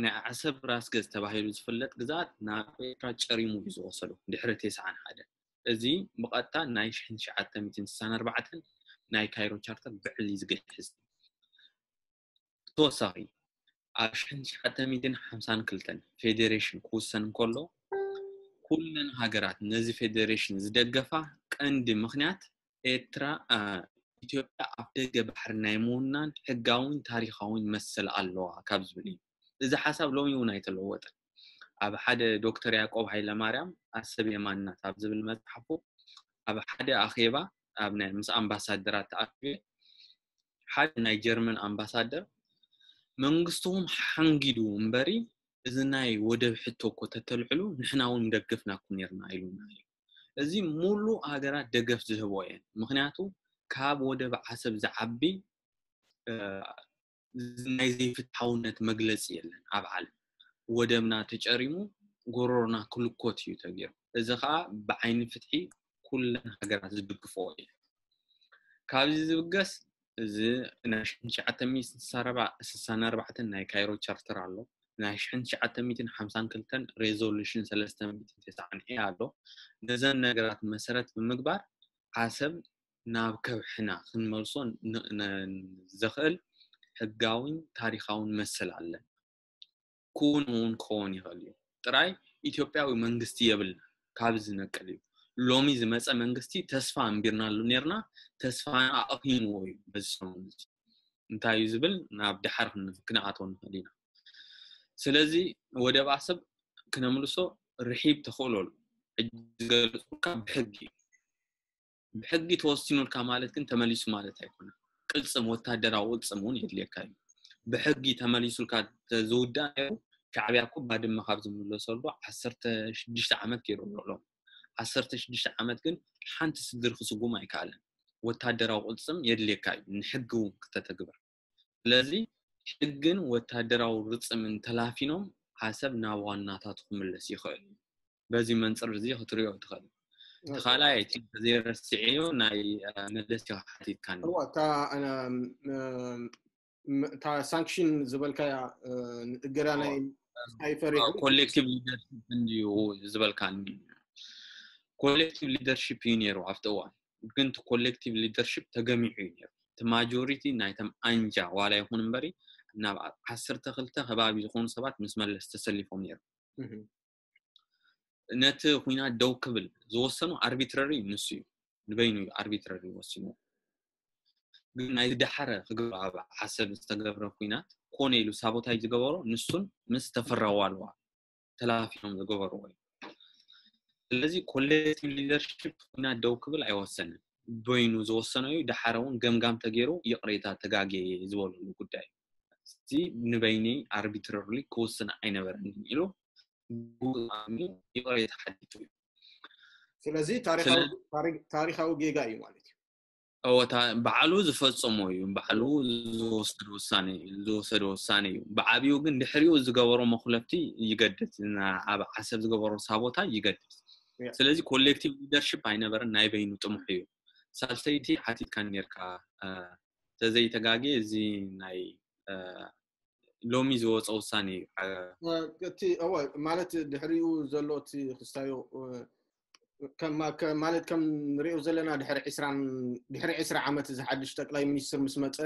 ናይ ዓሰብ ራስ ገዝ ተባሂሉ ዝፍለጥ ግዝኣት ናብ ኤርትራ ጨሪሙ እዩ ዝወሰዶ ድሕሪ ተስዓን ሓደ። እዚ ብቐጥታ ናይ ሽሕን ትሽዓተ ሚእትን ስሳን ኣርባዕተን ናይ ካይሮ ቻርተር ብዕሊ ዝግሕዝ። ተወሳኺ ኣብ ሽሕን ትሽዓተ ሚእትን ሓምሳን ክልተን ፌዴሬሽን ክውሰን እንከሎ ኩለን ሃገራት ነዚ ፌዴሬሽን ዝደገፋ ቀንዲ ምኽንያት ኤርትራ ኢትዮጵያ ኣፍ ደገ ባሕሪ ናይ ምውናን ሕጋዊን ታሪኻዊን መሰል ኣለዋ ካብ ዝብል እዩ። እዚ ሓሳብ ሎሚ እውን ኣይተለወጠን። ኣብ ሓደ ዶክተር ያዕቆብ ሃይለማርያም ኣሰብ የማንናት ኣብ ዝብል መጽሓፉ ኣብ ሓደ ኣኼባ ኣብ ናይ ምስ ኣምባሳደራት ተኣኪበ ሓደ ናይ ጀርመን ኣምባሳደር መንግስትኹም ሓንጊዱ እምበሪ እዚ ናይ ወደብ ሕቶ እኮ ተተልዕሉ ንሕና እውን ደገፍናኩም ነርና ኢሉና እዩ። እዚ ሙሉ ሃገራት ደገፍ ዝህቦ እየን። ምክንያቱ ካብ ወደብ ዓሰብ ዝዓቢ ናይ ዘይፍትሓውነት መግለፂ የለን ኣብ ዓለም። ወደብና ተጨሪሙ ጎሮሮና ክልኮት እዩ ተገይሩ። እዚ ከዓ ብዓይኒ ፍትሒ ኩለን ሃገራት ዝድግፍኦ እዩ። ካብዚ ዝብገስ እዚ ናይ ሽሕን ትሽዓተ ሚእትን ስሳን ኣርባዕተን ናይ ካይሮ ቻርተር ኣሎ። ናይ ሽሕን ትሽዓተ ሚእትን ሓምሳን ክልተን ሬዞሉሽን ሰለስተ ሚእትን ተስዓን ኤ ኣሎ። ነዘን ነገራት መሰረት ብምግባር ዓሰብ ናብ ከብሕና ክንመልሶ ዘኽእል ሕጋዊን ታሪኻውን መሰል ኣለን። ክውን እውን ክኸውን ይኽእል እዩ። ጥራይ ኢትዮጵያዊ መንግስቲ የብልና ካብ ዝነቅል እዩ። ሎሚ ዝመፀ መንግስቲ ተስፋ ኣንቢርናሉ ነርና፣ ተስፋና ኣቕሂምዎ እዩ። በዚ ሰሙን እዚ እንታይ እዩ ዝብል ናብ ድሓር ክንኣተው ንኽእል ኢና። ስለዚ ወደብ ኣሰብ ክነምልሶ ርሒብ ተኽእሎ ኣሎ። ሕጂ ዝገለፅኩልካ ብሕጊ እዩ። ብሕጊ ተወሲኑልካ ማለት ግን ተመሊሱ ማለት ኣይኮነን። ቅልፅም፣ ወታደራዊ ቅልፅም እውን የድልየካ እዩ። ብሕጊ ተመሊሱልካ ዝውዳእ ነይሩ ሻዕብያ እኮ ባድመ ካብ ዝምለሰሉ ዓሰርተ ሽዱሽተ ዓመት ገይሩ ኣሎ። ዓሰርተ ሽዱሽተ ዓመት ግን ሓንቲ ስድሪ ክስጉም ኣይከኣለን። ወታደራዊ ቅልፅም የድልየካ እዩ ንሕጊ እውን ክተተግብር። ስለዚ ሕግን ወታደራዊ ርፅምን ተላፊኖም ዓሰብ ናብ ዋናታቱ ክምለስ ይኽእል እዩ። በዚ መንፅር እዚ ክትሪኦ ትኽእል። እቲ ካልኣይ እቲ ዘይረስዕዮ ናይ መለስ ኢኻ ሓቲትካኒ። እታ ሳንክሽን ዝበልካያ እገዳ ናይ ሳይፈር ኮሌክቲቭ ሊደርሽፕ እንድዩ ዝበልካኒ። ኮሌክቲቭ ሊደርሽፕ እዩ ነይሩ ኣብቲ እዋን፣ ግን እቲ ኮሌክቲቭ ሊደርሽፕ ተገሚዑ እዩ ነይሩ። እቲ ማጆሪቲ ናይቶም ኣንጃ ዋላ ይኹን እምበሪ ናብ ዓሰርተ ክልተ ከባቢ ዝኾኑ ሰባት ምስ መለስ ተሰሊፎም ነይሩ። ነቲ ኩናት ደው ክብል ዝወሰኑ ኣርቢትረሪ ንሱ እዩ፣ ንበይኑ እዩ ኣርቢትረሪ ወሲኑ። ግን ናይ ዝደሓረ ክገብሮ ኣብ ዓሰብ ዝተገብረ ኩናት ኮነ ኢሉ ሳቦታይ ዝገበሮ ንሱን ምስ ተፈራ ዋልዋ ተላፊኖም ዝገበርዎ እዩ። ስለዚ ኮሌክቲቭ ሊደርሽፕ ኩናት ደው ክብል ኣይወሰንን፣ በይኑ ዝወሰኖ እዩ። ደሓረ እውን ገምጋም ተገይሩ ይቕሬታ ተጋጌ ዝበለሉ ጉዳይ እዩ። እዚ ንበይነይ ኣርቢትረርሊ ክውስን ኣይነበረንን ኢሉ ይቕሬታ ሓቲቱ እዩ። ስለዚ ታሪኻዊ ጌጋ እዩ ማለት እዩ። እወታ ባዕሉ ዝፈጸሞ እዩ፣ ባዕሉ ዝወሰዶ ውሳነ እዩ። ብዓብዩ ግን ድሕሪኡ ዝገበሮ መኹለፍቲ ይገድድ፣ ኣብ ዓሰብ ዝገበሮ ሳቦታ ይገድድ። ስለዚ ኮሌክቲቭ ሊደርሽፕ ኣይነበረን፣ ናይ በይኑ ጥሙሕ እዩ። ሳልሰይቲ ሓቲትካ ነርካ ተዘይተጋጌ፣ እዚ ናይ ሎሚ ዝወፀ ውሳነ እዩ። እቲ እወ ማለት ድሕሪኡ ዘሎ እቲ ክስታዮ ማለት ከም ንሪኦ ዘለና ድሕሪ ዕስራ ዓመት እዚ ሓድሽ ጠቅላይ ሚኒስትር ምስ መፀ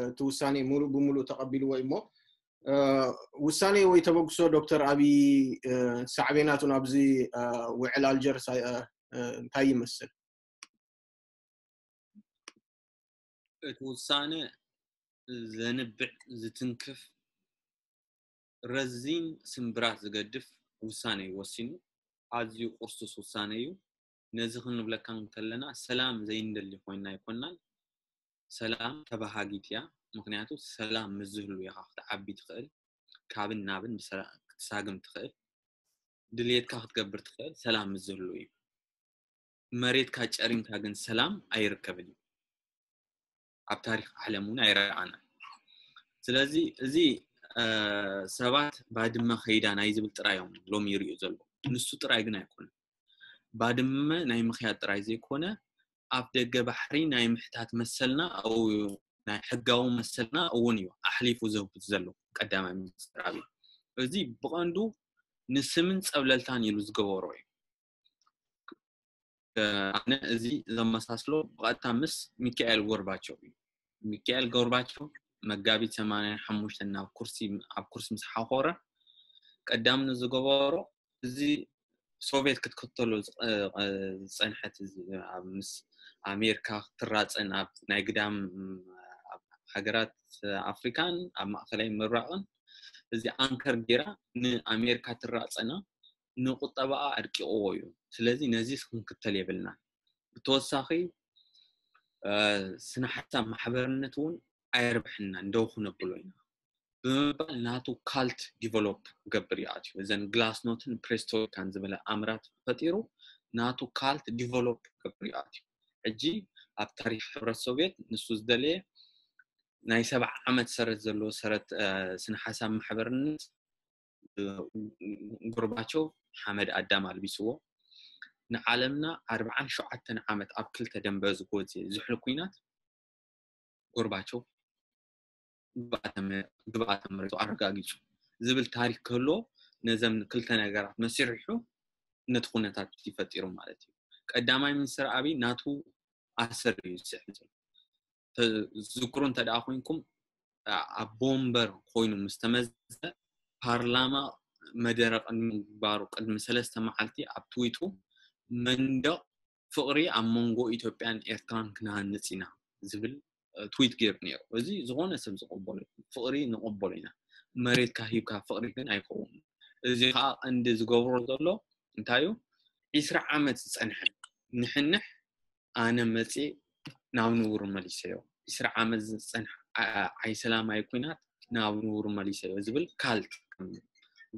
እቲ ውሳኔ ሙሉእ ብሙሉእ ተቐቢልዎ እዩ እሞ ውሳኔ ወይ ተበግሶ ዶክተር ኣብይ ሳዕቤናቱ ናብዚ ውዕል ኣልጀርስ እንታይ ይመስል? እቲ ውሳነ ዘንብዕ ዝትንክፍ ረዚን ስምብራት ዝገድፍ ውሳነ እዩ ወሲኑ። ኣዝዩ ቁርሱስ ውሳነ እዩ። ነዚ ክንብለካ እንከለና ሰላም ዘይንደሊ ኮይና ኣይኮናን። ሰላም ተባሃጊት እያ። ምክንያቱ ሰላም ምስ ዝህሉ ኢኻ ክትዓቢ ትኽእል፣ ካብን ናብን ክትሳግም ትኽእል፣ ድልየትካ ክትገብር ትኽእል ሰላም ምስ ዝህሉ እዩ። መሬትካ ጨሪምካ ግን ሰላም ኣይርከብን እዩ። ኣብ ታሪክ ዓለም እውን ኣይረኣናን። ስለዚ እዚ ሰባት ባድመ ከይዳ ናይ ዝብል ጥራይ እዮም ሎሚ ይሪኡ ዘለዉ። ንሱ ጥራይ ግን ኣይኮነን። ባድመ ናይ ምኽያድ ጥራይ ዘይኮነ ኣፍ ደገ ባሕሪ ናይ ምሕታት መሰልና ናይ ሕጋዊ መሰልና እውን እዩ ኣሕሊፉ ዘውት ዘሎ ቀዳማይ ሚኒስትር ኣብይ። እዚ ብቐንዱ ንስምን ፀብለልታን ኢሉ ዝገበሮ እዩ። ኣነ እዚ ዘመሳስሎ ብቐጥታ ምስ ሚካኤል ጎርባቸው እዩ። ሚካኤል ጎርባቸው መጋቢት ሰማንያ ሓሙሽተ ናብ ኩርሲ ኣብ ኩርሲ ምስ ሓኾረ ቀዳም ንዝገበሮ እዚ ሶቪየት ክትከተሎ ዝፀንሐት ምስ ኣሜሪካ ክትራፀ ናብ ናይ ግዳም ኣብ ሃገራት ኣፍሪካን ኣብ ማእከላይ ምብራቕን እዚ ኣንከር ጌራ ንኣሜሪካ ትራፀና ንቁጠባኣ ኣድቂቕዎ እዩ። ስለዚ ነዚ ክንክተል የብልና። ብተወሳኺ ስነ ሓሳብ ማሕበርነት እውን ኣየርብሐና እንደው ክነብሎ ኢና ብምባል ናቱ ካልት ዲቨሎፕ ክገብር ይኣትዩ። እዘን ግላስኖትን ፕሬስቶሪካን ዝበለ ኣምራት ፈጢሩ ናቱ ካልት ዲቨሎፕ ክገብር ይኣትዩ። ሕጂ ኣብ ታሪክ ሕብረት ሶቪየት ንሱ ዝደለየ ናይ ሰብዓ ዓመት ሰረት ዘለዎ ሰረት ስነ ሓሳብ ማሕበርነት ጎርባቸው ሓመድ ኣዳም ኣልቢስዎ። ንዓለምና ኣርብዓን ሸውዓተን ዓመት ኣብ ክልተ ደንበ ዝጎዜ ዝሕል ኩናት ጎርባቸው ግብኣተ መሬቱ ኣረጋጊፁ ዝብል ታሪክ ክህልዎ ነዘም ክልተ ነገራት መሲሪሑ ነቲ ኩነታት ይፈጢሩ ማለት እዩ። ቀዳማይ ሚኒስትር ኣብይ ናቱ ኣሰር እዩ ዝስዕብ ዘሎ። ዝክሩ እንተ ደኣ ኮይንኩም ኣብ ቦምበር ኮይኑ ምስ ተመዘ ፓርላማ መደረ ቅድሚ ምግባሩ ቅድሚ ሰለስተ መዓልቲ ኣብ ትዊቱ መንደቕ ፍቕሪ ኣብ መንጎ ኢትዮጵያን ኤርትራን ክንሃንጽ ኢና ዝብል ትዊት ገይሩ ነይሩ። እዚ ዝኾነ ሰብ ዝቕበሎ ፍቕሪ ንቕበሎ ኢና። መሬትካ ሂብካ ፍቕሪ ግን ኣይከውን። እዚ ከዓ ቀንዲ ዝገብሮ ዘሎ እንታይ እዩ? ዒስራ ዓመት ዝጸንሐ ንሕንሕ ኣነ መጽ ናብ ንቡር መሊሰዮ። ዒስራ ዓመት ዝጸንሐ ዓይሰላማዊ ኩናት ናብ ንቡር መሊሰዮ ዝብል ካልት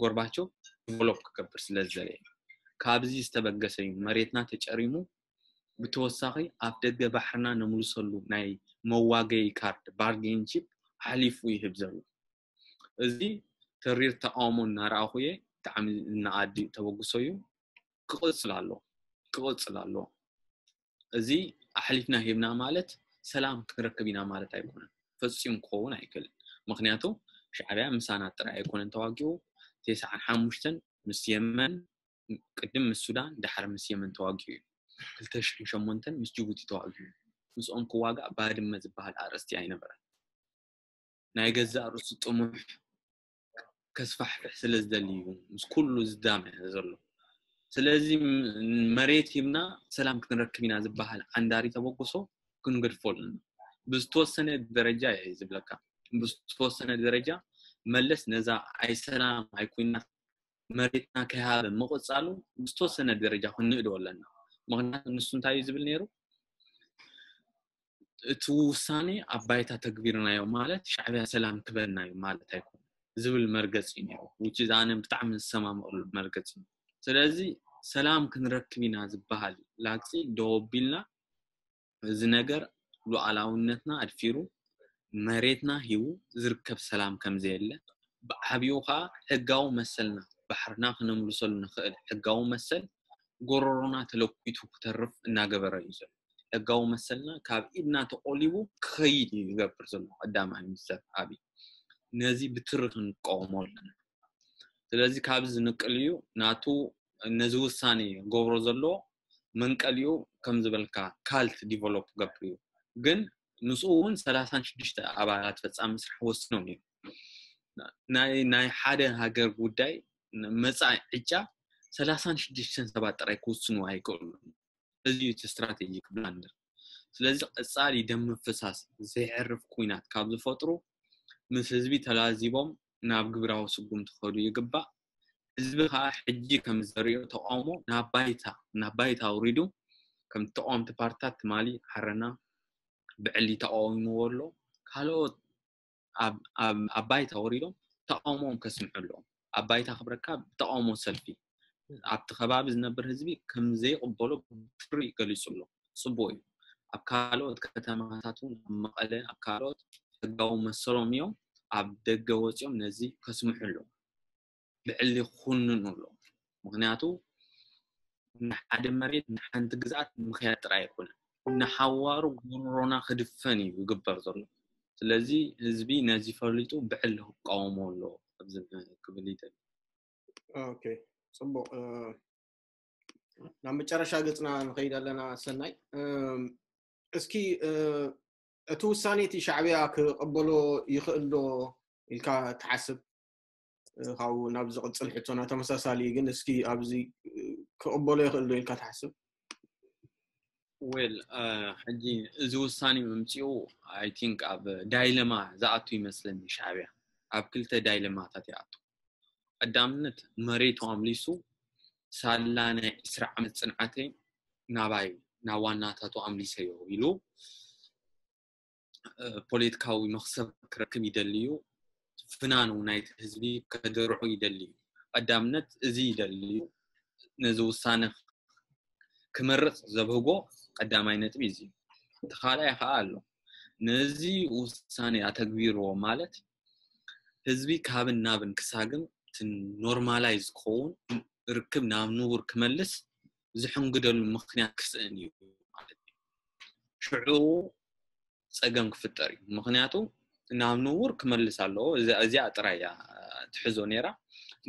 ጎርባቸው ዲቨሎፕ ክገብር ስለ ዝደለየ ካብዚ ዝተበገሰ እዩ መሬትና ተጨሪሙ ብተወሳኺ ኣብ ደገ ባሕርና ነምልሰሉ ናይ መዋገይ ካርድ ባርጌን ቺፕ ሓሊፉ ይህብ ዘሎ። እዚ ተሪር ተቃውሞ እናረኣኹ እየ። ብጣዕሚ ዝነኣድ ተበግሶ እዩ። ክቕፅል ኣሎ ክቕፅል ኣሎ። እዚ ኣሕሊፍና ሂብና ማለት ሰላም ክንረክብ ኢና ማለት ኣይኮነን። ፈፂሙ ክኸውን ኣይክእልን። ምክንያቱ ሻዕብያ ምሳና ጥራይ ኣይኮነን ተዋጊኡ። ተስዓን ሓሙሽተን ምስ የመን ቅድም ምስ ሱዳን ዳሕር ምስ የመን ተዋጊኡ እዩ። ክልተ ሽሕን ሸሞንተን ምስ ጅቡቲ ተዋጊኡ እዩ። ምስኦም ክዋጋእ ባድመ ዝበሃል ኣርእስቲ ኣይነበረን። ናይ ገዛእ ርእሱ ጥሙሕ ከስፋሕፍሕ ስለ ዝደሊ እዩ ምስ ኩሉ ዝዳመ ዘሎ። ስለዚ መሬት ሂብና ሰላም ክንረክብ ኢና ዝበሃል ዓንዳሪ ተበግሶ ክንገድፎ ኣለና። ብዝተወሰነ ደረጃ እየ ዝብለካ። ብዝተወሰነ ደረጃ መለስ ነዛ ኣይሰላም ኣይኩናት መሬትና ከይሃበ ምቕፃሉ ብዝተወሰነ ደረጃ ክንእዶ ኣለና። ምክንያቱ ንሱ እንታይ እዩ ዝብል ነይሩ? እቲ ውሳኔ ኣብ ባይታ ተግቢርናዮ ማለት ሻዕብያ ሰላም ክበልና እዩ ማለት ኣይኮነ ዝብል መርገፂ እዩ ነይሩ። ውጭ ኣነ ብጣዕሚ ዝሰማምቕሉ መርገፂ እዩ። ስለዚ ሰላም ክንረክብ ኢና ዝበሃል ላግፂ ደወቢልና እዚ ነገር ሉዓላውነትና ኣድፊሩ መሬትና ሂቡ ዝርከብ ሰላም ከምዘየለ ብዓብዩ ከዓ ሕጋዊ መሰልና ባሕርና ክነምልሰሉ ንኽእል ሕጋዊ መሰል ጎረሮና ተለኩቱ ክተርፍ እናገበረ እዩ ዘሎ። ሕጋዊ መሰልና ካብ ኢድና ተቆሊቡ ክኸይድ እዩ ዝገብር ዘሎ ቀዳማይ ሚኒስተር ኣብይ። ነዚ ብትሪ ክንቃወሞ ኣለና። ስለዚ ካብዚ ዝንቅል እዩ ናቱ ነዚ ውሳኔ ገብሮ ዘሎ መንቀሊኡ ከም ዝበልካ ካልት ዲቨሎፕ ገብር እዩ። ግን ምስኡ እውን ሰላሳን ሽዱሽተ ኣባላት ፈፃሚ ስራሕ ወስኖም እዮም። ናይ ሓደ ሃገር ጉዳይ መፃኢ ዕጫ ሰላሳን ሽዱሽተን ሰባት ጥራይ ክውስኑ ኣይክእሉን። እዚ እዩ እቲ ስትራቴጂክ ብላንደር። ስለዚ ቀፃሊ ደም ምፍሳስ ዘይዕርፍ ኩናት ካብ ዝፈጥሩ ምስ ህዝቢ ተላዚቦም ናብ ግብራዊ ስጉምቲ ክኸዱ ይግባእ። ህዝቢ ከዓ ሕጂ ከም ዘሪኦ ተቃውሞ ናብ ባይታ ናብ ባይታ ኣውሪዱ ከም ተቃወምቲ ፓርትታት ትማሊ ዓረና ብዕሊ ተቃዊምዎ ኣሎ። ካልኦት ኣብ ባይታ ወሪዶም ተቃውሞኦም ከስምዑ ኣለዎም። ኣብ ባይታ ክብረካ ብተቃውሞ ሰልፊ ኣብቲ ከባቢ ዝነብር ህዝቢ ከም ዘይቅበሎ ብትሪ ገሊፁ ኣሎ። ፅቡቅ እዩ። ኣብ ካልኦት ከተማታት እውን ኣብ መቐለ ኣብ ካልኦት ሕጋዊ መሰሎም እዮም ኣብ ደገ ወፂኦም ነዚ ከስምሑ ኣለዎም። ብዕሊ ክኹንኑ ኣለዎም። ምክንያቱ ንሓደ መሬት ንሓንቲ ግዝኣት ምክያድ ጥራይ ኣይኮነን። ንሓዋሩ ጎሮሮና ክድፈን እዩ ዝግበር ዘሎ። ስለዚ ህዝቢ ነዚ ፈሊጡ ብዕሊ ክቃወሞ ኣለዎ ክብል ይደሊ። ኦኬ ፅቡቅ። ናብ መጨረሻ ገፅና ንኸይድ ኣለና። ሰናይ እስኪ እቲ ውሳኔ እቲ ሻዕብያ ክቐበሎ ይኽእል ዶ ኢልካ ትሓስብ? ካብኡ ናብ ዝቕፅል ሕቶና ተመሳሳሊ ግን እስኪ ኣብዚ ክቕበሎ ይኽእል ዶ ኢልካ ትሓስብ? Well, ሕጂ እዚ ውሳኔ ምምፅኡ I think ኣብ ዳይለማ ዝኣቱ ይመስለኒ። ሻዕብያ ኣብ ክልተ ዳይለማታት ይኣቱ። ቀዳምነት መሬቱ ኣምሊሱ ሳላ ናይ ዕስራ ዓመት ፅንዓተይ ናባይ ናብ ዋናታቱ ኣምሊሰዮ ኢሉ ፖለቲካዊ መኽሰብ ክረክብ ይደሊ እዩ። ፍናኑ ናይቲ ህዝቢ ከደርዑ ይደሊ እዩ። ቀዳምነት እዚ ይደሊ እዩ። ነዚ ውሳነ ክመርፅ ዘብህጎ ቀዳማይ ነጥቢ እዚ። እቲ ካልኣይ ከዓ ኣሎ። ነዚ ውሳኔ ኣተግቢርዎ ማለት ህዝቢ ካብን ናብን ክሳግም፣ እቲ ኖርማላይዝ ክኸውን፣ ርክብ ናብ ንቡር ክመልስ ዝሕንግደሉ ምኽንያት ክስእን እዩ ማለት እዩ። ሽዑ ፀገም ክፍጠር እዩ። ምኽንያቱ ናብ ንቡር ክመልስ ኣለዎ። እዚኣ ጥራይ እያ ትሕዞ ነይራ።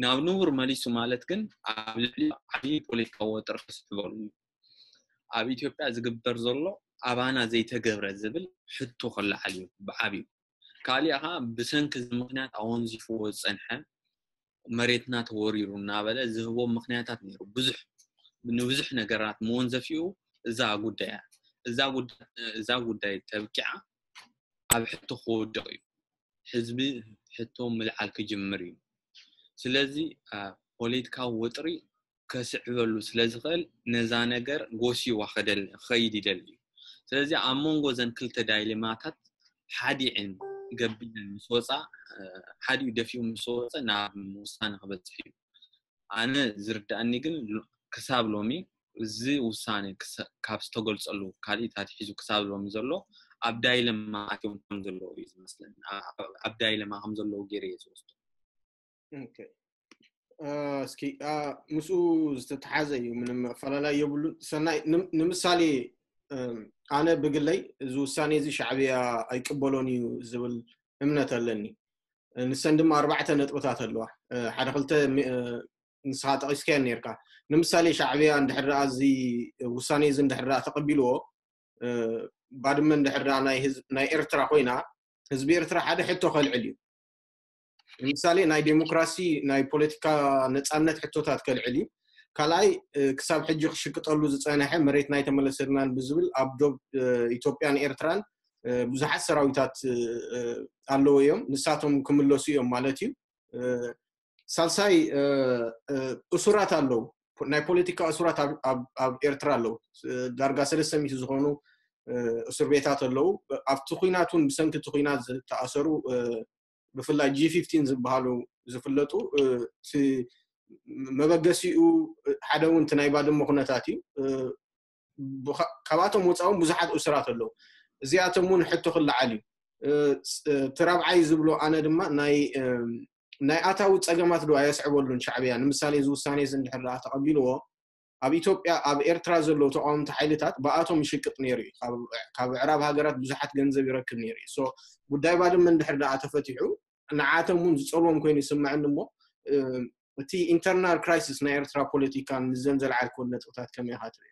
ናብ ንቡር መሊሱ ማለት ግን ኣብ ልዕሊ ዓብዪ ፖለቲካዊ ወጥሪ ክስዕበሉ እዩ። ኣብ ኢትዮጵያ ዝግበር ዘሎ ኣባና ዘይተገብረ ዝብል ሕቶ ክለዓል እዩ ብዓብዩ። ካሊእ ከዓ ብሰንኪ እዚ ምኽንያት ኣወንዚፍዎ ዝፀንሐ መሬትና ተወሪሩ እናበለ ዝህቦ ምኽንያታት ነይሩ። ብዙሕ ንብዙሕ ነገራት መወንዘፊኡ እዛ ጉዳይ እያ። እዛ ጉዳይ ተብቂዓ ኣብ ሕቶ ክወድቕ እዩ። ህዝቢ ሕቶ ምልዓል ክጅምር እዩ። ስለዚ ፖለቲካዊ ወጥሪ ከስዕበሉ ስለ ዝኽእል ነዛ ነገር ጎሲዋ ክኸይድ ይደሊ እዩ። ስለዚ ኣብ መንጎ ዘን ክልተ ዳይሌማታት ሓዲዕን ገቢለን ምስ ወፃ፣ ሓዲኡ ደፊኡ ምስ ወፀ ናብ ውሳነ ክበፅሕ እዩ። ኣነ ዝርዳእኒ ግን ክሳብ ሎሚ እዚ ውሳኔ ካብ ዝተገልፀሉ ካልኢት ኣትሒዙ ክሳብ ሎሚ ዘሎ ኣብ ዳይለማ ኣትዮም ከም ዘለዉ እዩ ዝመስለኒ። ኣብ ዳይለማ ከም ዘለዉ ገይረ እየ ዝወስዶ። እስኪ ምስኡ ዝተተሓዘ እዩ፣ ምንም ኣፈላላይ የብሉን። ሰናይ፣ ንምሳሌ ኣነ ብግለይ እዚ ውሳኔ እዚ ሻዕብያ ኣይቅበሎን እዩ ዝብል እምነት ኣለኒ። ንሰን ድማ ኣርባዕተ ነጥብታት ኣለዋ። ሓደ ክልተ ንስኻ ጠቒስካዮ ነርካ። ንምሳሌ ሻዕብያ እንድሕር ደኣ እዚ ውሳኔ እዚ እንድሕር ደኣ ተቐቢልዎ፣ ባድመ እንድሕር ደኣ ናይ ኤርትራ ኮይና፣ ህዝቢ ኤርትራ ሓደ ሕቶ ከልዕል እዩ። ንምሳሌ ናይ ዴሞክራሲ፣ ናይ ፖለቲካ ነፃነት ሕቶታት ከልዕል እዩ። ካልኣይ ክሳብ ሕጂ ክሽቅጠሉ ዝፀነሐ መሬትና ኣይተመለሰልናን ብዝብል ኣብ ዶብ ኢትዮጵያን ኤርትራን ብዙሓት ሰራዊታት ኣለዎ እዮም፣ ንሳቶም ክምለሱ እዮም ማለት እዩ። ሳልሳይ እሱራት ኣለዉ፣ ናይ ፖለቲካ እሱራት ኣብ ኤርትራ ኣለዉ። ዳርጋ ሰለስተ ሚእቲ ዝኾኑ እስር ቤታት ኣለዉ። ኣብቲ ኩናት እውን ብሰንኪ እቲ ኩናት ዝተኣሰሩ ብፍላይ ጂ ፊፍቲን ዝበሃሉ ዝፍለጡ፣ መበገሲኡ ሓደ እውን እቲ ናይ ባድመ ኩነታት እዩ። ካብኣቶም ወፃ እውን ብዙሓት እሱራት ኣለዉ። እዚኣቶም እውን ሕቶ ክለዓል እዩ። እቲ ራብዓይ ዝብሎ ኣነ ድማ ናይ ኣታዊ ፀገማት ዶ ኣየስዕበሉን ሻዕብያ? ንምሳሌ እዚ ውሳኔ እዚ እንድሕር ደኣ ተቐቢልዎ፣ ኣብ ኢትዮጵያ ኣብ ኤርትራ ዘለዉ ተቃወምቲ ሓይልታት ብኣቶም ይሽቅጥ ነይሩ እዩ። ካብ ኣዕራብ ሃገራት ብዙሓት ገንዘብ ይረክብ ነይሩ እዩ። ጉዳይ ባድመ እንድሕር ደኣ ተፈቲሑ ንዓቶም እውን ዝፀልዎም ኮይኑ ይስምዐኒ። እሞ እቲ ኢንተርናል ክራይሲስ ናይ ኤርትራ ፖለቲካ ንዘን ዘልዓልክወን ነጥብታት ከመይ ኢኻ ትርእዮ?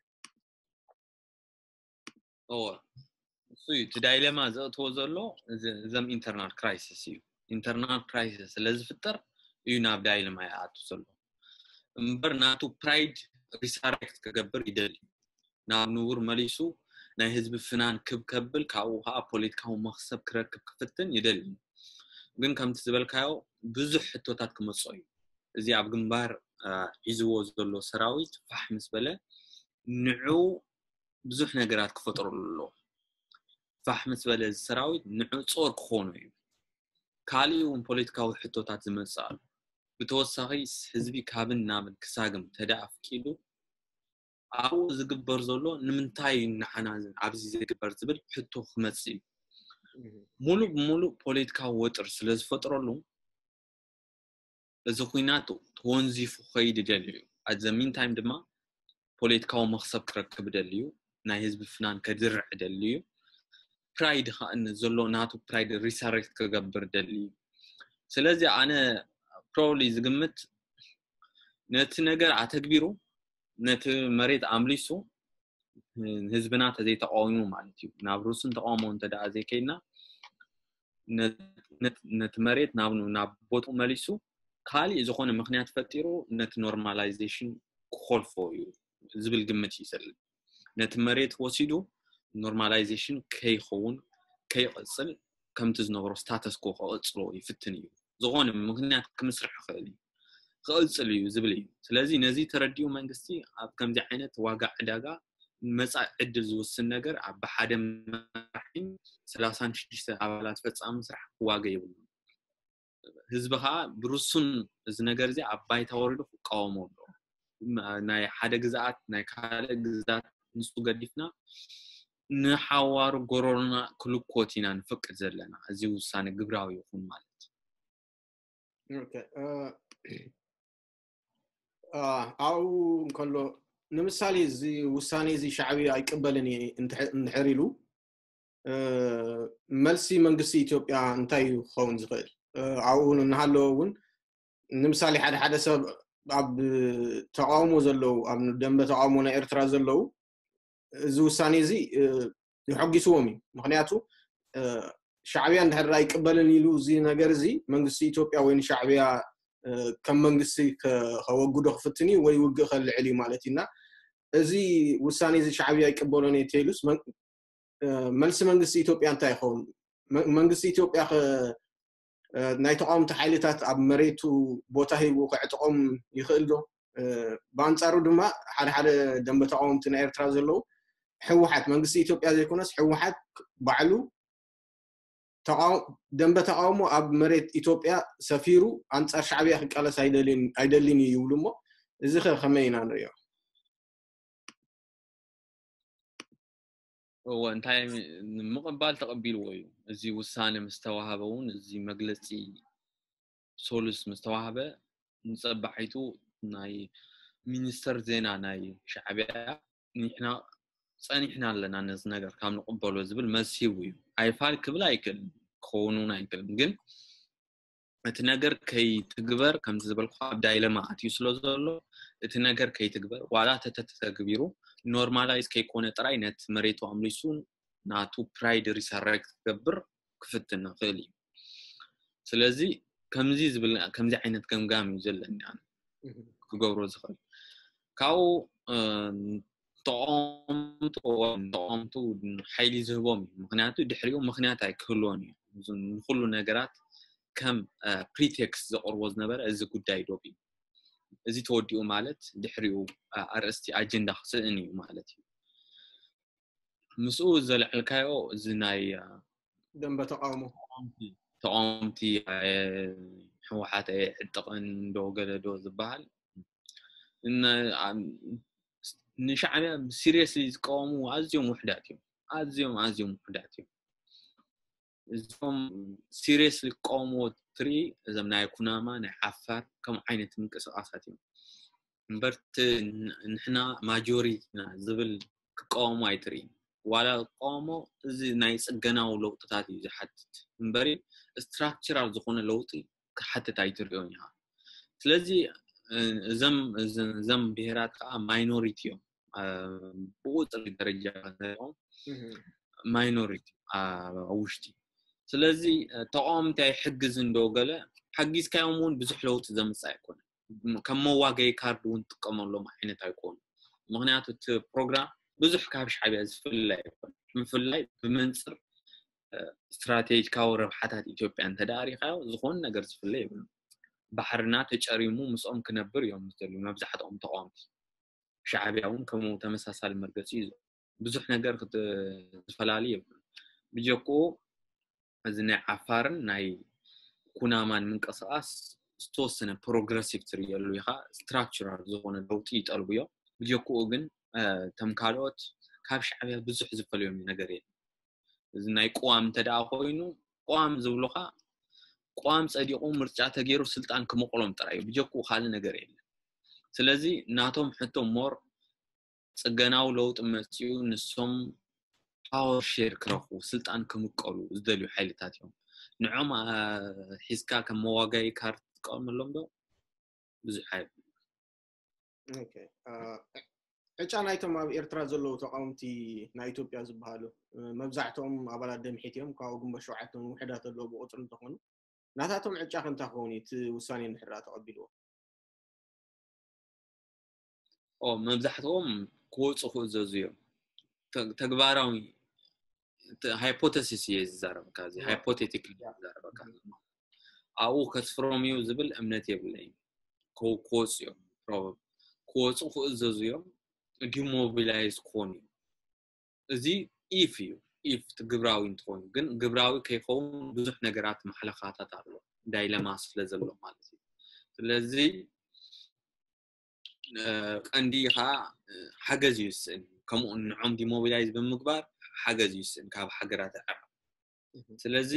እወ፣ እሱ እዩ እቲ ዳይለማ ዘእትዎ ዘሎ። እዞም ኢንተርናል ክራይሲስ እዩ። ኢንተርናል ክራይሲስ ስለ ዝፍጠር እዩ ናብ ዳይለማ ይኣቱ ዘሎ። እምበር ናቱ ፕራይድ ሪሳሬክት ክገብር ይደሊ፣ ናብ ንቡር መሊሱ ናይ ህዝቢ ፍናን ክብ ከብል፣ ካብኡ ከዓ ፖለቲካዊ መክሰብ ክረክብ ክፍትን ይደሊ። ግን ከምቲ ዝበልካዮ ብዙሕ ሕቶታት ክመፅኦ እዩ። እዚ ኣብ ግንባር ሒዝዎ ዘሎ ሰራዊት ፋሕ ምስ በለ ንዑ ብዙሕ ነገራት ክፈጥረሉ ኣለዎ። ፋሕ ምስ በለ እዚ ሰራዊት ንዑ ጾር ክኾኑ እዩ። ካሊእ እውን ፖለቲካዊ ሕቶታት ዝመጽእ ኣሎ። ብተወሳኺ ህዝቢ ካብን ናብን ክሳግም ተደኣ ኣፍቂዱ ኣብኡ ዝግበር ዘሎ ንምንታይ ንዓና ኣብዚ ዝግበር ዝብል ሕቶ ክመጽእ እዩ። ሙሉእ ብሙሉእ ፖለቲካዊ ወጥሪ ስለ ዝፈጥረሉ እዚ ኩናት ተወንዚፉ ክኸይድ ይደሊ እዩ። ኣት ዘ ሚን ታይም ድማ ፖለቲካዊ መኽሰብ ክረክብ ይደሊ እዩ። ናይ ህዝቢ ፍናን ከድርዕ ይደሊ እዩ። ፕራይድ ከዓ ዘሎ ናቱ ፕራይድ ሪሳሬክት ክገብር ይደሊ እዩ። ስለዚ ኣነ ፕሮባብሊ ዝግምት ነቲ ነገር ኣተግቢሩ ነቲ መሬት ኣምሊሱ ንህዝብና ተዘይተቃዊሙ ማለት እዩ። ናብ ሩስን ተቃውሞ እንተ ደኣ ዘይከይድና ነቲ መሬት ናብ ናብ ቦትኡ መሊሱ ካሊእ ዝኾነ ምኽንያት ፈጢሩ ነቲ ኖርማላይዜሽን ክኾልፎ እዩ ዝብል ግምት እዩ ዘለኒ። ነቲ መሬት ወሲዱ ኖርማላይዜሽን ከይኸውን፣ ከይቐጽል፣ ከምቲ ዝነበሮ ስታተስ ኮ ክቐጽሎ ይፍትን እዩ። ዝኾነ ምኽንያት ክምስርሕ ይኽእል እዩ። ክቐጽል እዩ ዝብል እዩ። ስለዚ ነዚ ተረዲኡ መንግስቲ ኣብ ከምዚ ዓይነት ዋጋ ዕዳጋ መጻኢ ዕድል ዝውስን ነገር ኣብ ብሓደ መራሒ ሰላሳን ሽዱሽተ ኣባላት ፈጻሚ ስራሕ ክዋገ የብሉን። ህዝቢ ከዓ ብርሱን እዚ ነገር እዚ ኣብ ባይታ ወሪዱ ክቃወሞ ኣለዎ። ናይ ሓደ ግዝኣት ናይ ካልእ ግዝኣት ንሱ ገዲፍና ንሓዋሩ ጎረሮና ክልኮት ኢና ንፈቅድ ዘለና። እዚ ውሳነ ግብራዊ ይኹን ማለት ኣብኡ እንከሎ ንምሳሌ እዚ ውሳኔ እዚ ሻዕብያ ኣይቅበልን እየ እንድሕር ኢሉ መልሲ መንግስቲ ኢትዮጵያ እንታይ እዩ ክኸውን ዝኽእል? ኣብኡ እናሃለወ እውን ንምሳሌ ሓደ ሓደ ሰብ ኣብ ተቃውሞ ዘለዉ ኣብ ደንበ ተቃውሞ ናይ ኤርትራ ዘለዉ እዚ ውሳኔ እዚ የሐጊስዎም እዩ። ምክንያቱ ሻዕብያ እንድሕር ኣይቅበልን ኢሉ እዚ ነገር እዚ መንግስቲ ኢትዮጵያ ወይ ንሻዕብያ ከም መንግስቲ ከወግዶ ክፍትን እዩ ወይ ውግእ ከልዕል እዩ ማለት እዩ። እና እዚ ውሳኔ እዚ ሻዕብያ ኣይቅበሎን እየ ተይሉስ መልሲ መንግስቲ ኢትዮጵያ እንታይ ይኸውን? መንግስቲ ኢትዮጵያ ናይ ተቃወምቲ ሓይልታት ኣብ መሬቱ ቦታ ሂቡ ከዕጥቆም ይኽእል ዶ? ብኣንፃሩ ድማ ሓደ ሓደ ደንበ ተቃወምቲ ናይ ኤርትራ ዘለዉ ህወሓት መንግስቲ ኢትዮጵያ ዘይኮነስ ህወሓት ባዕሉ ደንበ ተቃውሞ ኣብ መሬት ኢትዮጵያ ሰፊሩ ኣንፃር ሻዕብያ ክቃለስ ኣይደልን እዩ ይብሉ እሞ እዚ ከ ከመይ ኢና ንሪኦ? እወ እንታይ ምቕባል ተቐቢልዎ እዩ። እዚ ውሳነ ምስ ተዋሃበ እውን እዚ መግለፂ ሶሉስ ምስ ተዋህበ ንፀባሒቱ ናይ ሚኒስተር ዜና ናይ ሻዕብያ ንሕና ፀኒሕና ኣለና ነዚ ነገር ካብ ንቕበሎ ዝብል መልሲ ሂቡ እዩ። ኣይፋል ክብል ኣይክእልን ክኸውን እውን ኣይክእልን ግን እቲ ነገር ከይትግበር ከምቲ ዝበልኩ ኣብ ዳይለማ ኣትዩ ስለ ዘሎ እቲ ነገር ከይትግበር ዋላ ተተተግቢሩ ኖርማላይዝ ከይኮነ ጥራይ ነቲ መሬቱ ኣምሊሱ ናቱ ፕራይድ ሪሰረክት ክገብር ክፍትን ንኽእል እዩ። ስለዚ ከምዚ ዝብል ከምዚ ዓይነት ገምጋም እዩ ዘለኒ ኣነ ክገብሮ ዝኽእል ካብኡ ተቃወምቱ ሓይሊ ዝህቦም እዩ። ምክንያቱ ድሕሪኡ ምክንያት ኣይክህልዎን እዩ። ንኩሉ ነገራት ከም ፕሪቴክስት ዘቅርቦ ዝነበረ እዚ ጉዳይ ዶብ እዩ። እዚ ተወዲኡ ማለት ድሕሪኡ ኣርእስቲ ኣጀንዳ ክስእን እዩ ማለት እዩ። ምስኡ ዘልዐልካዮ እዚ ናይ ደንበ ተቃውሞ ተቃወምቲ ህወሓት ዕጥቕን ዶ ገለ ዶ ዝበሃል ንሻዕብያ ሲሪየስሊ ዝቃወሙ ኣዝዮም ውሕዳት እዮም። ኣዝዮም ኣዝዮም ውሕዳት እዮም። እዞም ሲሪየስሊ ክቃወምዎ ትርኢ እዞም ናይ ኩናማ ናይ ዓፋር ከም ዓይነት ምንቅስቃሳት እዮም። እምበር ንሕና ማጆሪቲና ዝብል ክቃወሙ ኣይትርኢ። ዋላ ክቃወሞ እዚ ናይ ፅገናዊ ለውጥታት እዩ ዝሓትት እምበሪ ስትራክቸራል ዝኾነ ለውጢ ክሓትት ኣይትሪኦን ኢኻ። ስለዚ እዞም ብሄራት ከዓ ማይኖሪቲ እዮም። ብቁፅሪ ደረጃ ንሪኦም ማይኖሪቲ ኣብ ውሽጢ። ስለዚ ተቃወምቲ ኣይሕግዝን ዶ ገለ ሓጊዝካዮም እውን ብዙሕ ለውጢ ዘምፅእ ኣይኮነን። ከም መዋገይ ካርድ እውን ትጥቀመሎም ዓይነት ኣይኮኑ። ምክንያቱ እቲ ፕሮግራም ብዙሕ ካብ ሻዕብያ ዝፍለ ኣይኮነ። ምፍላይ ብመንፅር ስትራቴጂካዊ ረብሓታት ኢትዮጵያ እንተደኣ ሪኢኻዮ ዝኾነ ነገር ዝፍለ የብሉ። ባሕርና ተጨሪሙ ምስኦም ክነብር እዮም ዝደልዩ መብዛሕትኦም ተቃወምቲ። ሻዕብያ እውን ከምኡ ተመሳሳሊ መርገፂ እዩ። ብዙሕ ነገር ዝፈላለ የብሉ። ብጀክኡ እዚ ናይ ዓፋርን ናይ ኩናማን ምንቅስቃስ ዝተወሰነ ፕሮግረሲቭ ትርእየሉ ኢኻ። ስትራክቸራል ዝኾነ ለውጢ ይጠልቡ እዮም። ብጀክኡ ግን እቶም ካልኦት ካብ ሻዕብያ ብዙሕ ዝፈልዮም ነገር የለን። እዚ ናይ ቅዋም እንተ ደኣ ኮይኑ ቅዋም ዝብሉኻ ቅዋም ፀዲቑ ምርጫ ተገይሩ ስልጣን ክመቕሎም ጥራይ እዩ። ብጀክኡ ካልእ ነገር የለን። ስለዚ ናቶም ሕቶ ሞር ፅገናዊ ለውጢ መፅኡ ንሶም ፓወር ሼር ክረኽቡ ስልጣን ክምቀሉ ዝደልዩ ሓይልታት እዮም። ንዖም ሒዝካ ከም መዋጋኢ ካርድ ትጥቀመሎም ዶ? ብዙሕ ኣይብል። ዕጫ ናይቶም ኣብ ኤርትራ ዘለዉ ተቃወምቲ ናይ ኢትዮጵያ ዝበሃሉ መብዛሕትኦም ኣባላት ደምሒት እዮም። ካብኡ ግንቦት ሸውዓተ ውሕዳት ኣለዉ ብቁፅሪ እንተኾኑ ናታቶም ዕጫ ከ እንታይ ክኸውን እዩ እቲ ውሳኔ እንድሕር ተቐቢልዎ? ኦ መብዛሕትኦም ክወፁ ክእዘዙ እዮም። ተግባራዊ ሃይፖተሲስ እየ ዝዛረበካ፣ እዚ ሃይፖቴቲክ ዝዛረበካ። ኣብኡ ከስፍሮም እዩ ዝብል እምነት የብለይን። ክወፁ እዮም፣ ክወፁ ክእዘዙ እዮም፣ ዲሞቢላይዝ ክኾኑ እዮም። እዚ ኢፍ እዩ። ኢፍ ግብራዊ እንትኾኑ ግን፣ ግብራዊ ከይኸውን ብዙሕ ነገራት ማሕለኻታት ኣሎ፣ ዳይለማ ስለ ዘሎ ማለት እዩ። ስለዚ ቀንዲ ከዓ ሓገዝ ይውስን። ከምኡ ንዖም ዲሞቢላይዝ ብምግባር ሓገዝ ይውስን ካብ ሃገራት ኣዕራብ። ስለዚ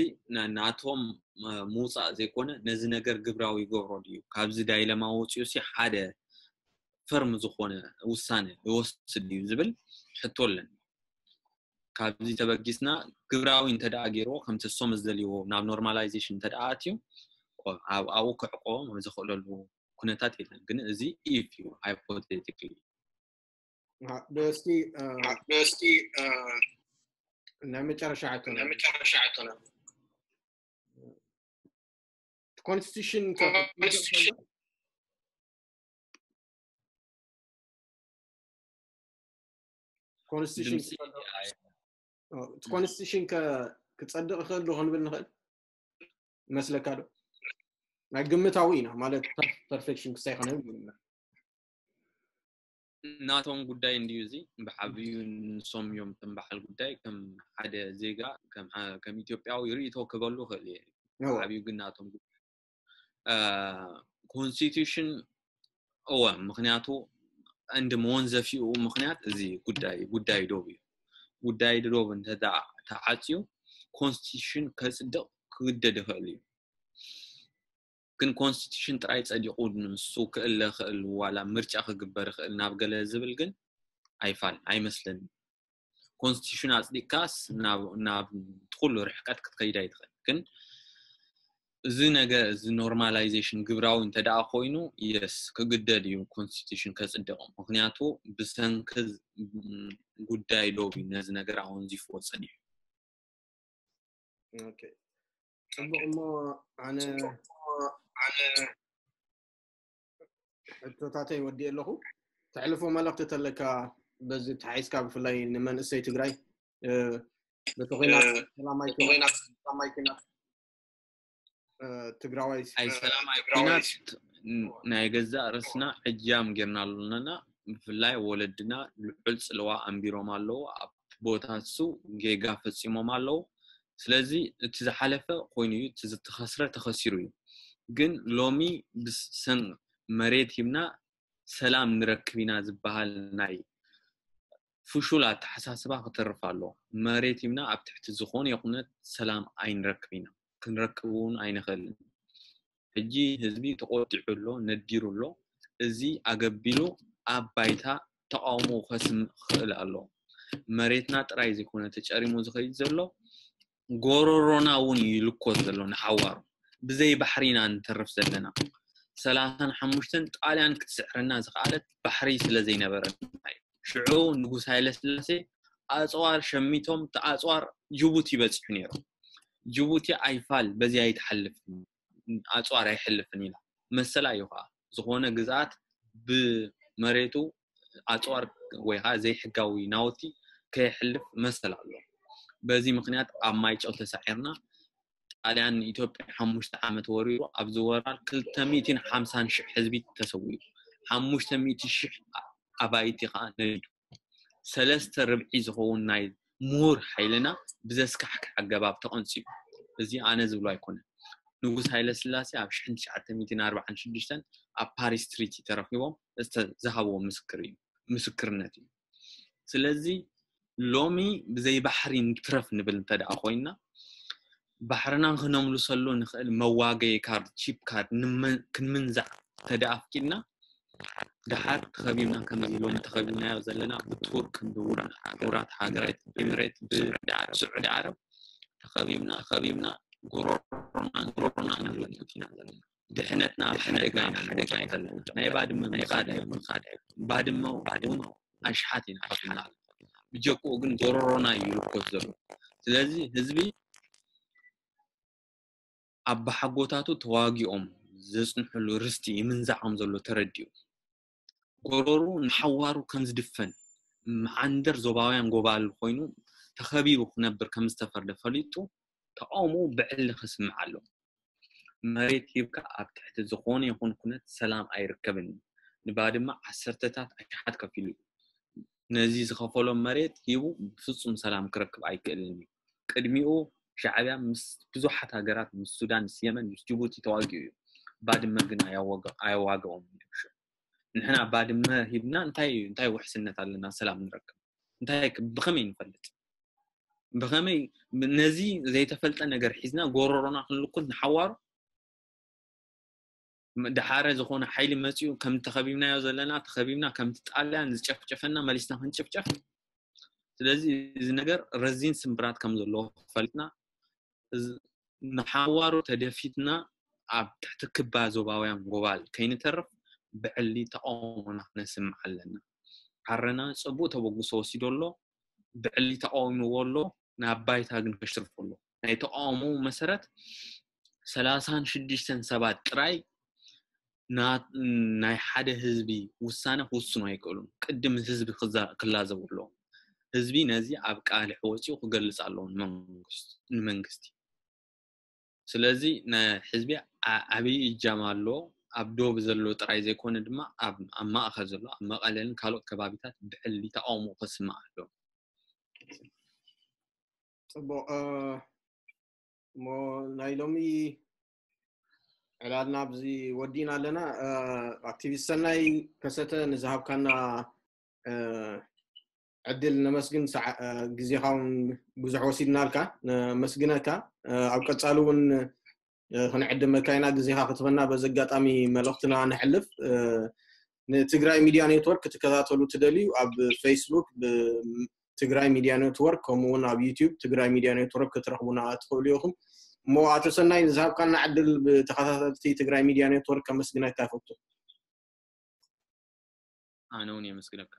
ናቶም ምውፃእ ዘይኮነ፣ ነዚ ነገር ግብራዊ ይገብሮ ድዩ፣ ካብዚ ዳይለማ ወፂኡ ሲ ሓደ ፈርም ዝኾነ ውሳነ ይወስድ ድዩ ዝብል ሕቶ ኣለኒ። ካብዚ ተበጊስና ግብራዊ እንተ ደኣ ገይርዎ፣ ከምቲ እሶም ዝደልይዎ ናብ ኖርማላይዜሽን እንተ ደኣ ኣትዩ፣ ኣብኡ ክዕቆቦም ኣብ ዘኽእለሉ ኩነታት የለን። ግን እዚ ኢፍ እዩ፣ ሃይፖቴቲክሊ። እስቲ እስቲ ናይ መጨረሻ ሕቶና፣ ናይ መጨረሻ ሕቶና፣ ኮንስቲቱሽን ኮንስቲቱሽን ኮንስቲቱሽን ክፀድቕ ይኽእል ዶ ክንብል ንኽእል መስለካ ዶ? ናይ ግምታዊ ኢና ማለት፣ ፐርፌክሽን ክሳይ ኾነ። ናቶም ጉዳይ እንድዩ፣ እዚ ብዓብዩ ንሶም እዮም ከም በዓል ጉዳይ፣ ከም ሓደ ዜጋ፣ ከም ኢትዮጵያዊ ርእይቶ ክበሉ ይኽእል እየ። ብዓብዩ ግን ናቶም ጉዳይ ኮንስቲቱሽን እወ፣ ምኽንያቱ እንዲ መወንዘፊኡ ምኽንያት እዚ ጉዳይ ጉዳይ ዶብ እዩ። ጉዳይ ዶብ እንተ ተዓፅዩ ኮንስቲቱሽን ከፅድቕ ክግደድ ይኽእል እዩ። ግን ኮንስቲቱሽን ጥራይ ፀዲቑ ንሱ ክእለ ክእል ዋላ ምርጫ ክግበር ይኽእል ናብ ገለ ዝብል ግን ኣይፋል ኣይመስለኒ። ኮንስቲቱሽን ኣፅዲቅካስ ናብ ኩሉ ርሕቀት ክትከይድ ኣይትኽእል። ግን እዚ ነገር እዚ ኖርማላይዜሽን ግብራዊ እንተ ደኣ ኮይኑ የስ ክግደድ እዩ ኮንስቲቱሽን ከፅድቕ። ምኽንያቱ ብሰንኪ ጉዳይ ዶብ እዩ ነዚ ነገር ኣወንዚፍዎ ፀኒሑ። ፅቡቅ እሞ ኣነ ሕቶታተይ ወዲእ ኣለኹ። ተሕልፎ መልእክቲ ተለካ በዚ ተሓይዝካ ብፍላይ ንመንእሰይ ትግራይ በቲ ኹናት ሰላማይ ኪናት ትግራዋይ ኣይ ሰላማይ ኪናት ናይ ገዛእ ርስና ዕጃም ጌርና ኣለና። ብፍላይ ወለድና ልዑል ፅልዋ ኣንቢሮም ኣለዉ። ኣብ ቦታ እሱ ጌጋ ፈፂሞም ኣለዉ። ስለዚ እቲ ዝሓለፈ ኮይኑ እዩ፣ እቲ ዝተኸስረ ተኸሲሩ እዩ። ግን ሎሚ ብሰን መሬት ሂብና ሰላም ንረክብ ኢና ዝበሃል ናይ ፍሹል ኣተሓሳስባ ክተርፍ ኣለዎ። መሬት ሂብና ኣብ ትሕቲ ዝኾነ ይኹነት ሰላም ኣይንረክብ ኢና፣ ክንረክብ እውን ኣይንኽእልን። ሕጂ ህዝቢ ተቆጢዑ ኣሎ፣ ነዲሩ ኣሎ። እዚ ኣገቢሉ ኣብ ባይታ ተቃውሞ ከስምዕ ክኽእል ኣለዎ። መሬትና ጥራይ ዘይኮነ ተጨሪሙ ዝኸይድ ዘሎ፣ ጎረሮና እውን ይልኮስ ዘሎ ንሓዋሩ። ብዘይ ባሕሪ ኢና ንተርፍ ዘለና። ሰላሳን ሓሙሽተን ጣልያን ክትስዕረና ዝኸኣለት ባሕሪ ስለ ዘይነበረና እዩ። ሽዑ ንጉስ ሃይለ ስላሴ ኣፅዋር ሸሚቶም፣ እቲ ኣፅዋር ጅቡቲ በፂሑ ነይሩ። ጅቡቲ ኣይፋል በዚ ኣይትሓልፍን፣ ኣፅዋር ኣይሕልፍን ኢላ። መሰላ እዩ ከዓ ዝኾነ ግዝኣት ብመሬቱ ኣፅዋር ወይ ከዓ ዘይሕጋዊ ናውቲ ከየሕልፍ መሰል ኣሎ። በዚ ምክንያት ኣብ ማይጨው ተሳዒርና። ጣልያን ንኢትዮጵያ ሓሙሽተ ዓመት ወሪሩ፣ ኣብዚ ወራር ክልተ ሚእትን ሓምሳን ሽሕ ህዝቢ ተሰዊኡ፣ ሓሙሽተ ሚእቲ ሽሕ ኣባይቲ ከዓ ነዲዱ። ሰለስተ ርብዒ ዝኸውን ናይ ምሁር ሓይልና ብዘስካሕክሕ ኣገባብ ተቐንፂቡ። እዚ ኣነ ዝብሎ ኣይኮነን። ንጉስ ሃይለ ስላሴ ኣብ ሽሕን ትሽዓተ ሚእትን ኣርባዓን ሽዱሽተን ኣብ ፓሪስ ትሪቲ ተረኺቦም ዝሃብዎ ምስክር እዩ፣ ምስክርነት እዩ። ስለዚ ሎሚ ብዘይ ባሕሪ ንትረፍ ንብል እንተ ደኣ ኮይና፣ ባሕርና ክነምልሰሉ ንኽእል መዋገዪ ካርድ፣ ቺፕ ካርድ ክንምንዛዕ እንተ ደኣ ኣፍቂድና፣ ደሓር ተኸቢብና ከምዚ ሎሚ ተኸቢብናዮ ዘለና ብቱርክ፣ ብሕቡራት ሃገራት ኤምሬት፣ ብስዑዲ ዓረብ ተኸቢብና ተኸቢብና ጉሮሮና ጉሮሮና ንልውጥ ኢና ዘለና። ድሕነትና ኣብ ሓደጋ ኢና ንወድቕ ዘለና። ናይ ባድመ ምኻድ ኣይኮነን። ባድመ እውን ኣሽሓት ኢና ኣሽሓት። ብጀክኡ ግን ጎረሮና እዩ ይልኮስ ዘሎ። ስለዚ ህዝቢ ኣባሓጎታቱ ተዋጊኦም ዘጽንሕሉ ርስቲ ይምንዛዕ ከም ዘሎ ተረዲኡ፣ ጎረሩ ንሓዋሩ ከም ዝድፈን፣ መዓንደር ዞባውያን ጎባል ኮይኑ ተኸቢቡ ክነብር ከም ዝተፈርደ ፈሊጡ ተቃውሞ ብዕሊ ከስምዕ ኣሎ። መሬት ሂብካ ኣብ ትሕቲ ዝኾነ ይኹን ኩነት ሰላም ኣይርከብን እዩ። ንባድመ ዓሰርተታት ኣሽሓት ከፊሉ እዩ። ነዚ ዝኸፈሎ መሬት ሂቡ ብፍጹም ሰላም ክረክብ ኣይክእልን እዩ። ቅድሚኡ ሻዕብያ ምስ ብዙሓት ሃገራት፣ ምስ ሱዳን፣ ምስ የመን፣ ምስ ጅቡቲ ተዋጊኡ እዩ። ባድመ ግን ኣያዋገ- ኣየዋገኦም እዩ። ንሕና ባድመ ሂብና እንታይ እንታይ ውሕስነት ኣለና ሰላም ንረክብ? እንታይ ክ- ብኸመይ ንፈልጥ? ብኸመይ ነዚ ዘይተፈልጠ ነገር ሒዝና ጎረሮና ክንልኩት ንሓዋሩ? ደሓረ ዝኾነ ሓይሊ መፂኡ ከም ተኸቢብናዮ ዘለና ተኸቢብና ከምቲ ጣልያን ዝጨፍጨፈና መሊስና ክንጭፍጨፍ? ስለዚ እዚ ነገር ረዚን ስምብራት ከም ዘለዎ ፈሊጥና እዚ ንሓዋሩ ተደፊትና ኣብ ትሕቲ ክባ ዞባውያን ጎባል ከይንተርፍ ብዕሊ ተቃውሞና ክነስምዕ ኣለና። ዓረና ጽቡቅ ተበግሶ ወሲዶ ኣሎ፣ ብዕሊ ተቃዊምዎ ኣሎ፣ ናብ ባይታ ግን ከሽርፎ ኣሎ። ናይ ተቃውሞ መሰረት ሰላሳን ሽዱሽተን ሰባት ጥራይ ና- ናይ ሓደ ህዝቢ ውሳነ ክውስኑ ኣይክእሉን። ቅድም ህዝቢ ክዛ- ክላዘቡ ኣለዎም። ህዝቢ ነዚ ኣብ ቃልሒ ወፂኡ ክገልፅ ኣለዎ ንመንግስት- ንመንግስቲ። ስለዚ ናይ ህዝቢ ዓ- ዓብዪ እጃም ኣለዎ። ኣብ ዶብ ዘሎ ጥራይ ዘይኮነ ድማ ኣብ ኣብ ማእኸል ዘሎ ኣብ መቐለን ካልኦት ከባቢታት ብዕሊ ተቃውሞ ከስምዕ ኣለዎ። ፅቡቅ እሞ ናይ ሎሚ ዕላልና ኣብዚ ወዲእና ኣለና። ኣክቲቪስት ሰናይ ከሰተ ንዝሃብካና ዕድል ነመስግን። ግዜኻ እውን ብዙሕ ወሲድናልካ፣ ነመስግነካ። ኣብ ቀፃሊ እውን ክንዕድመካ ኢና። ግዜኻ ክትበና በዚ ኣጋጣሚ መልእኽትና ነሕልፍ። ንትግራይ ሚድያ ኔትወርክ ክትከታተሉ ትደልዩ ኣብ ፌስቡክ ትግራይ ሚድያ ኔትወርክ፣ ከምኡ እውን ኣብ ዩቲዩብ ትግራይ ሚድያ ኔትወርክ ክትረኽቡና ትኽእሉ ኢኹም። እሞ ኣቶ ሰናይ ንዝሃብካና ዕድል ብተኸታተልቲ ትግራይ ሚድያ ኔትወርክ ከመስግነካ ይፈቱ። ኣነ እውን የመስግነካ።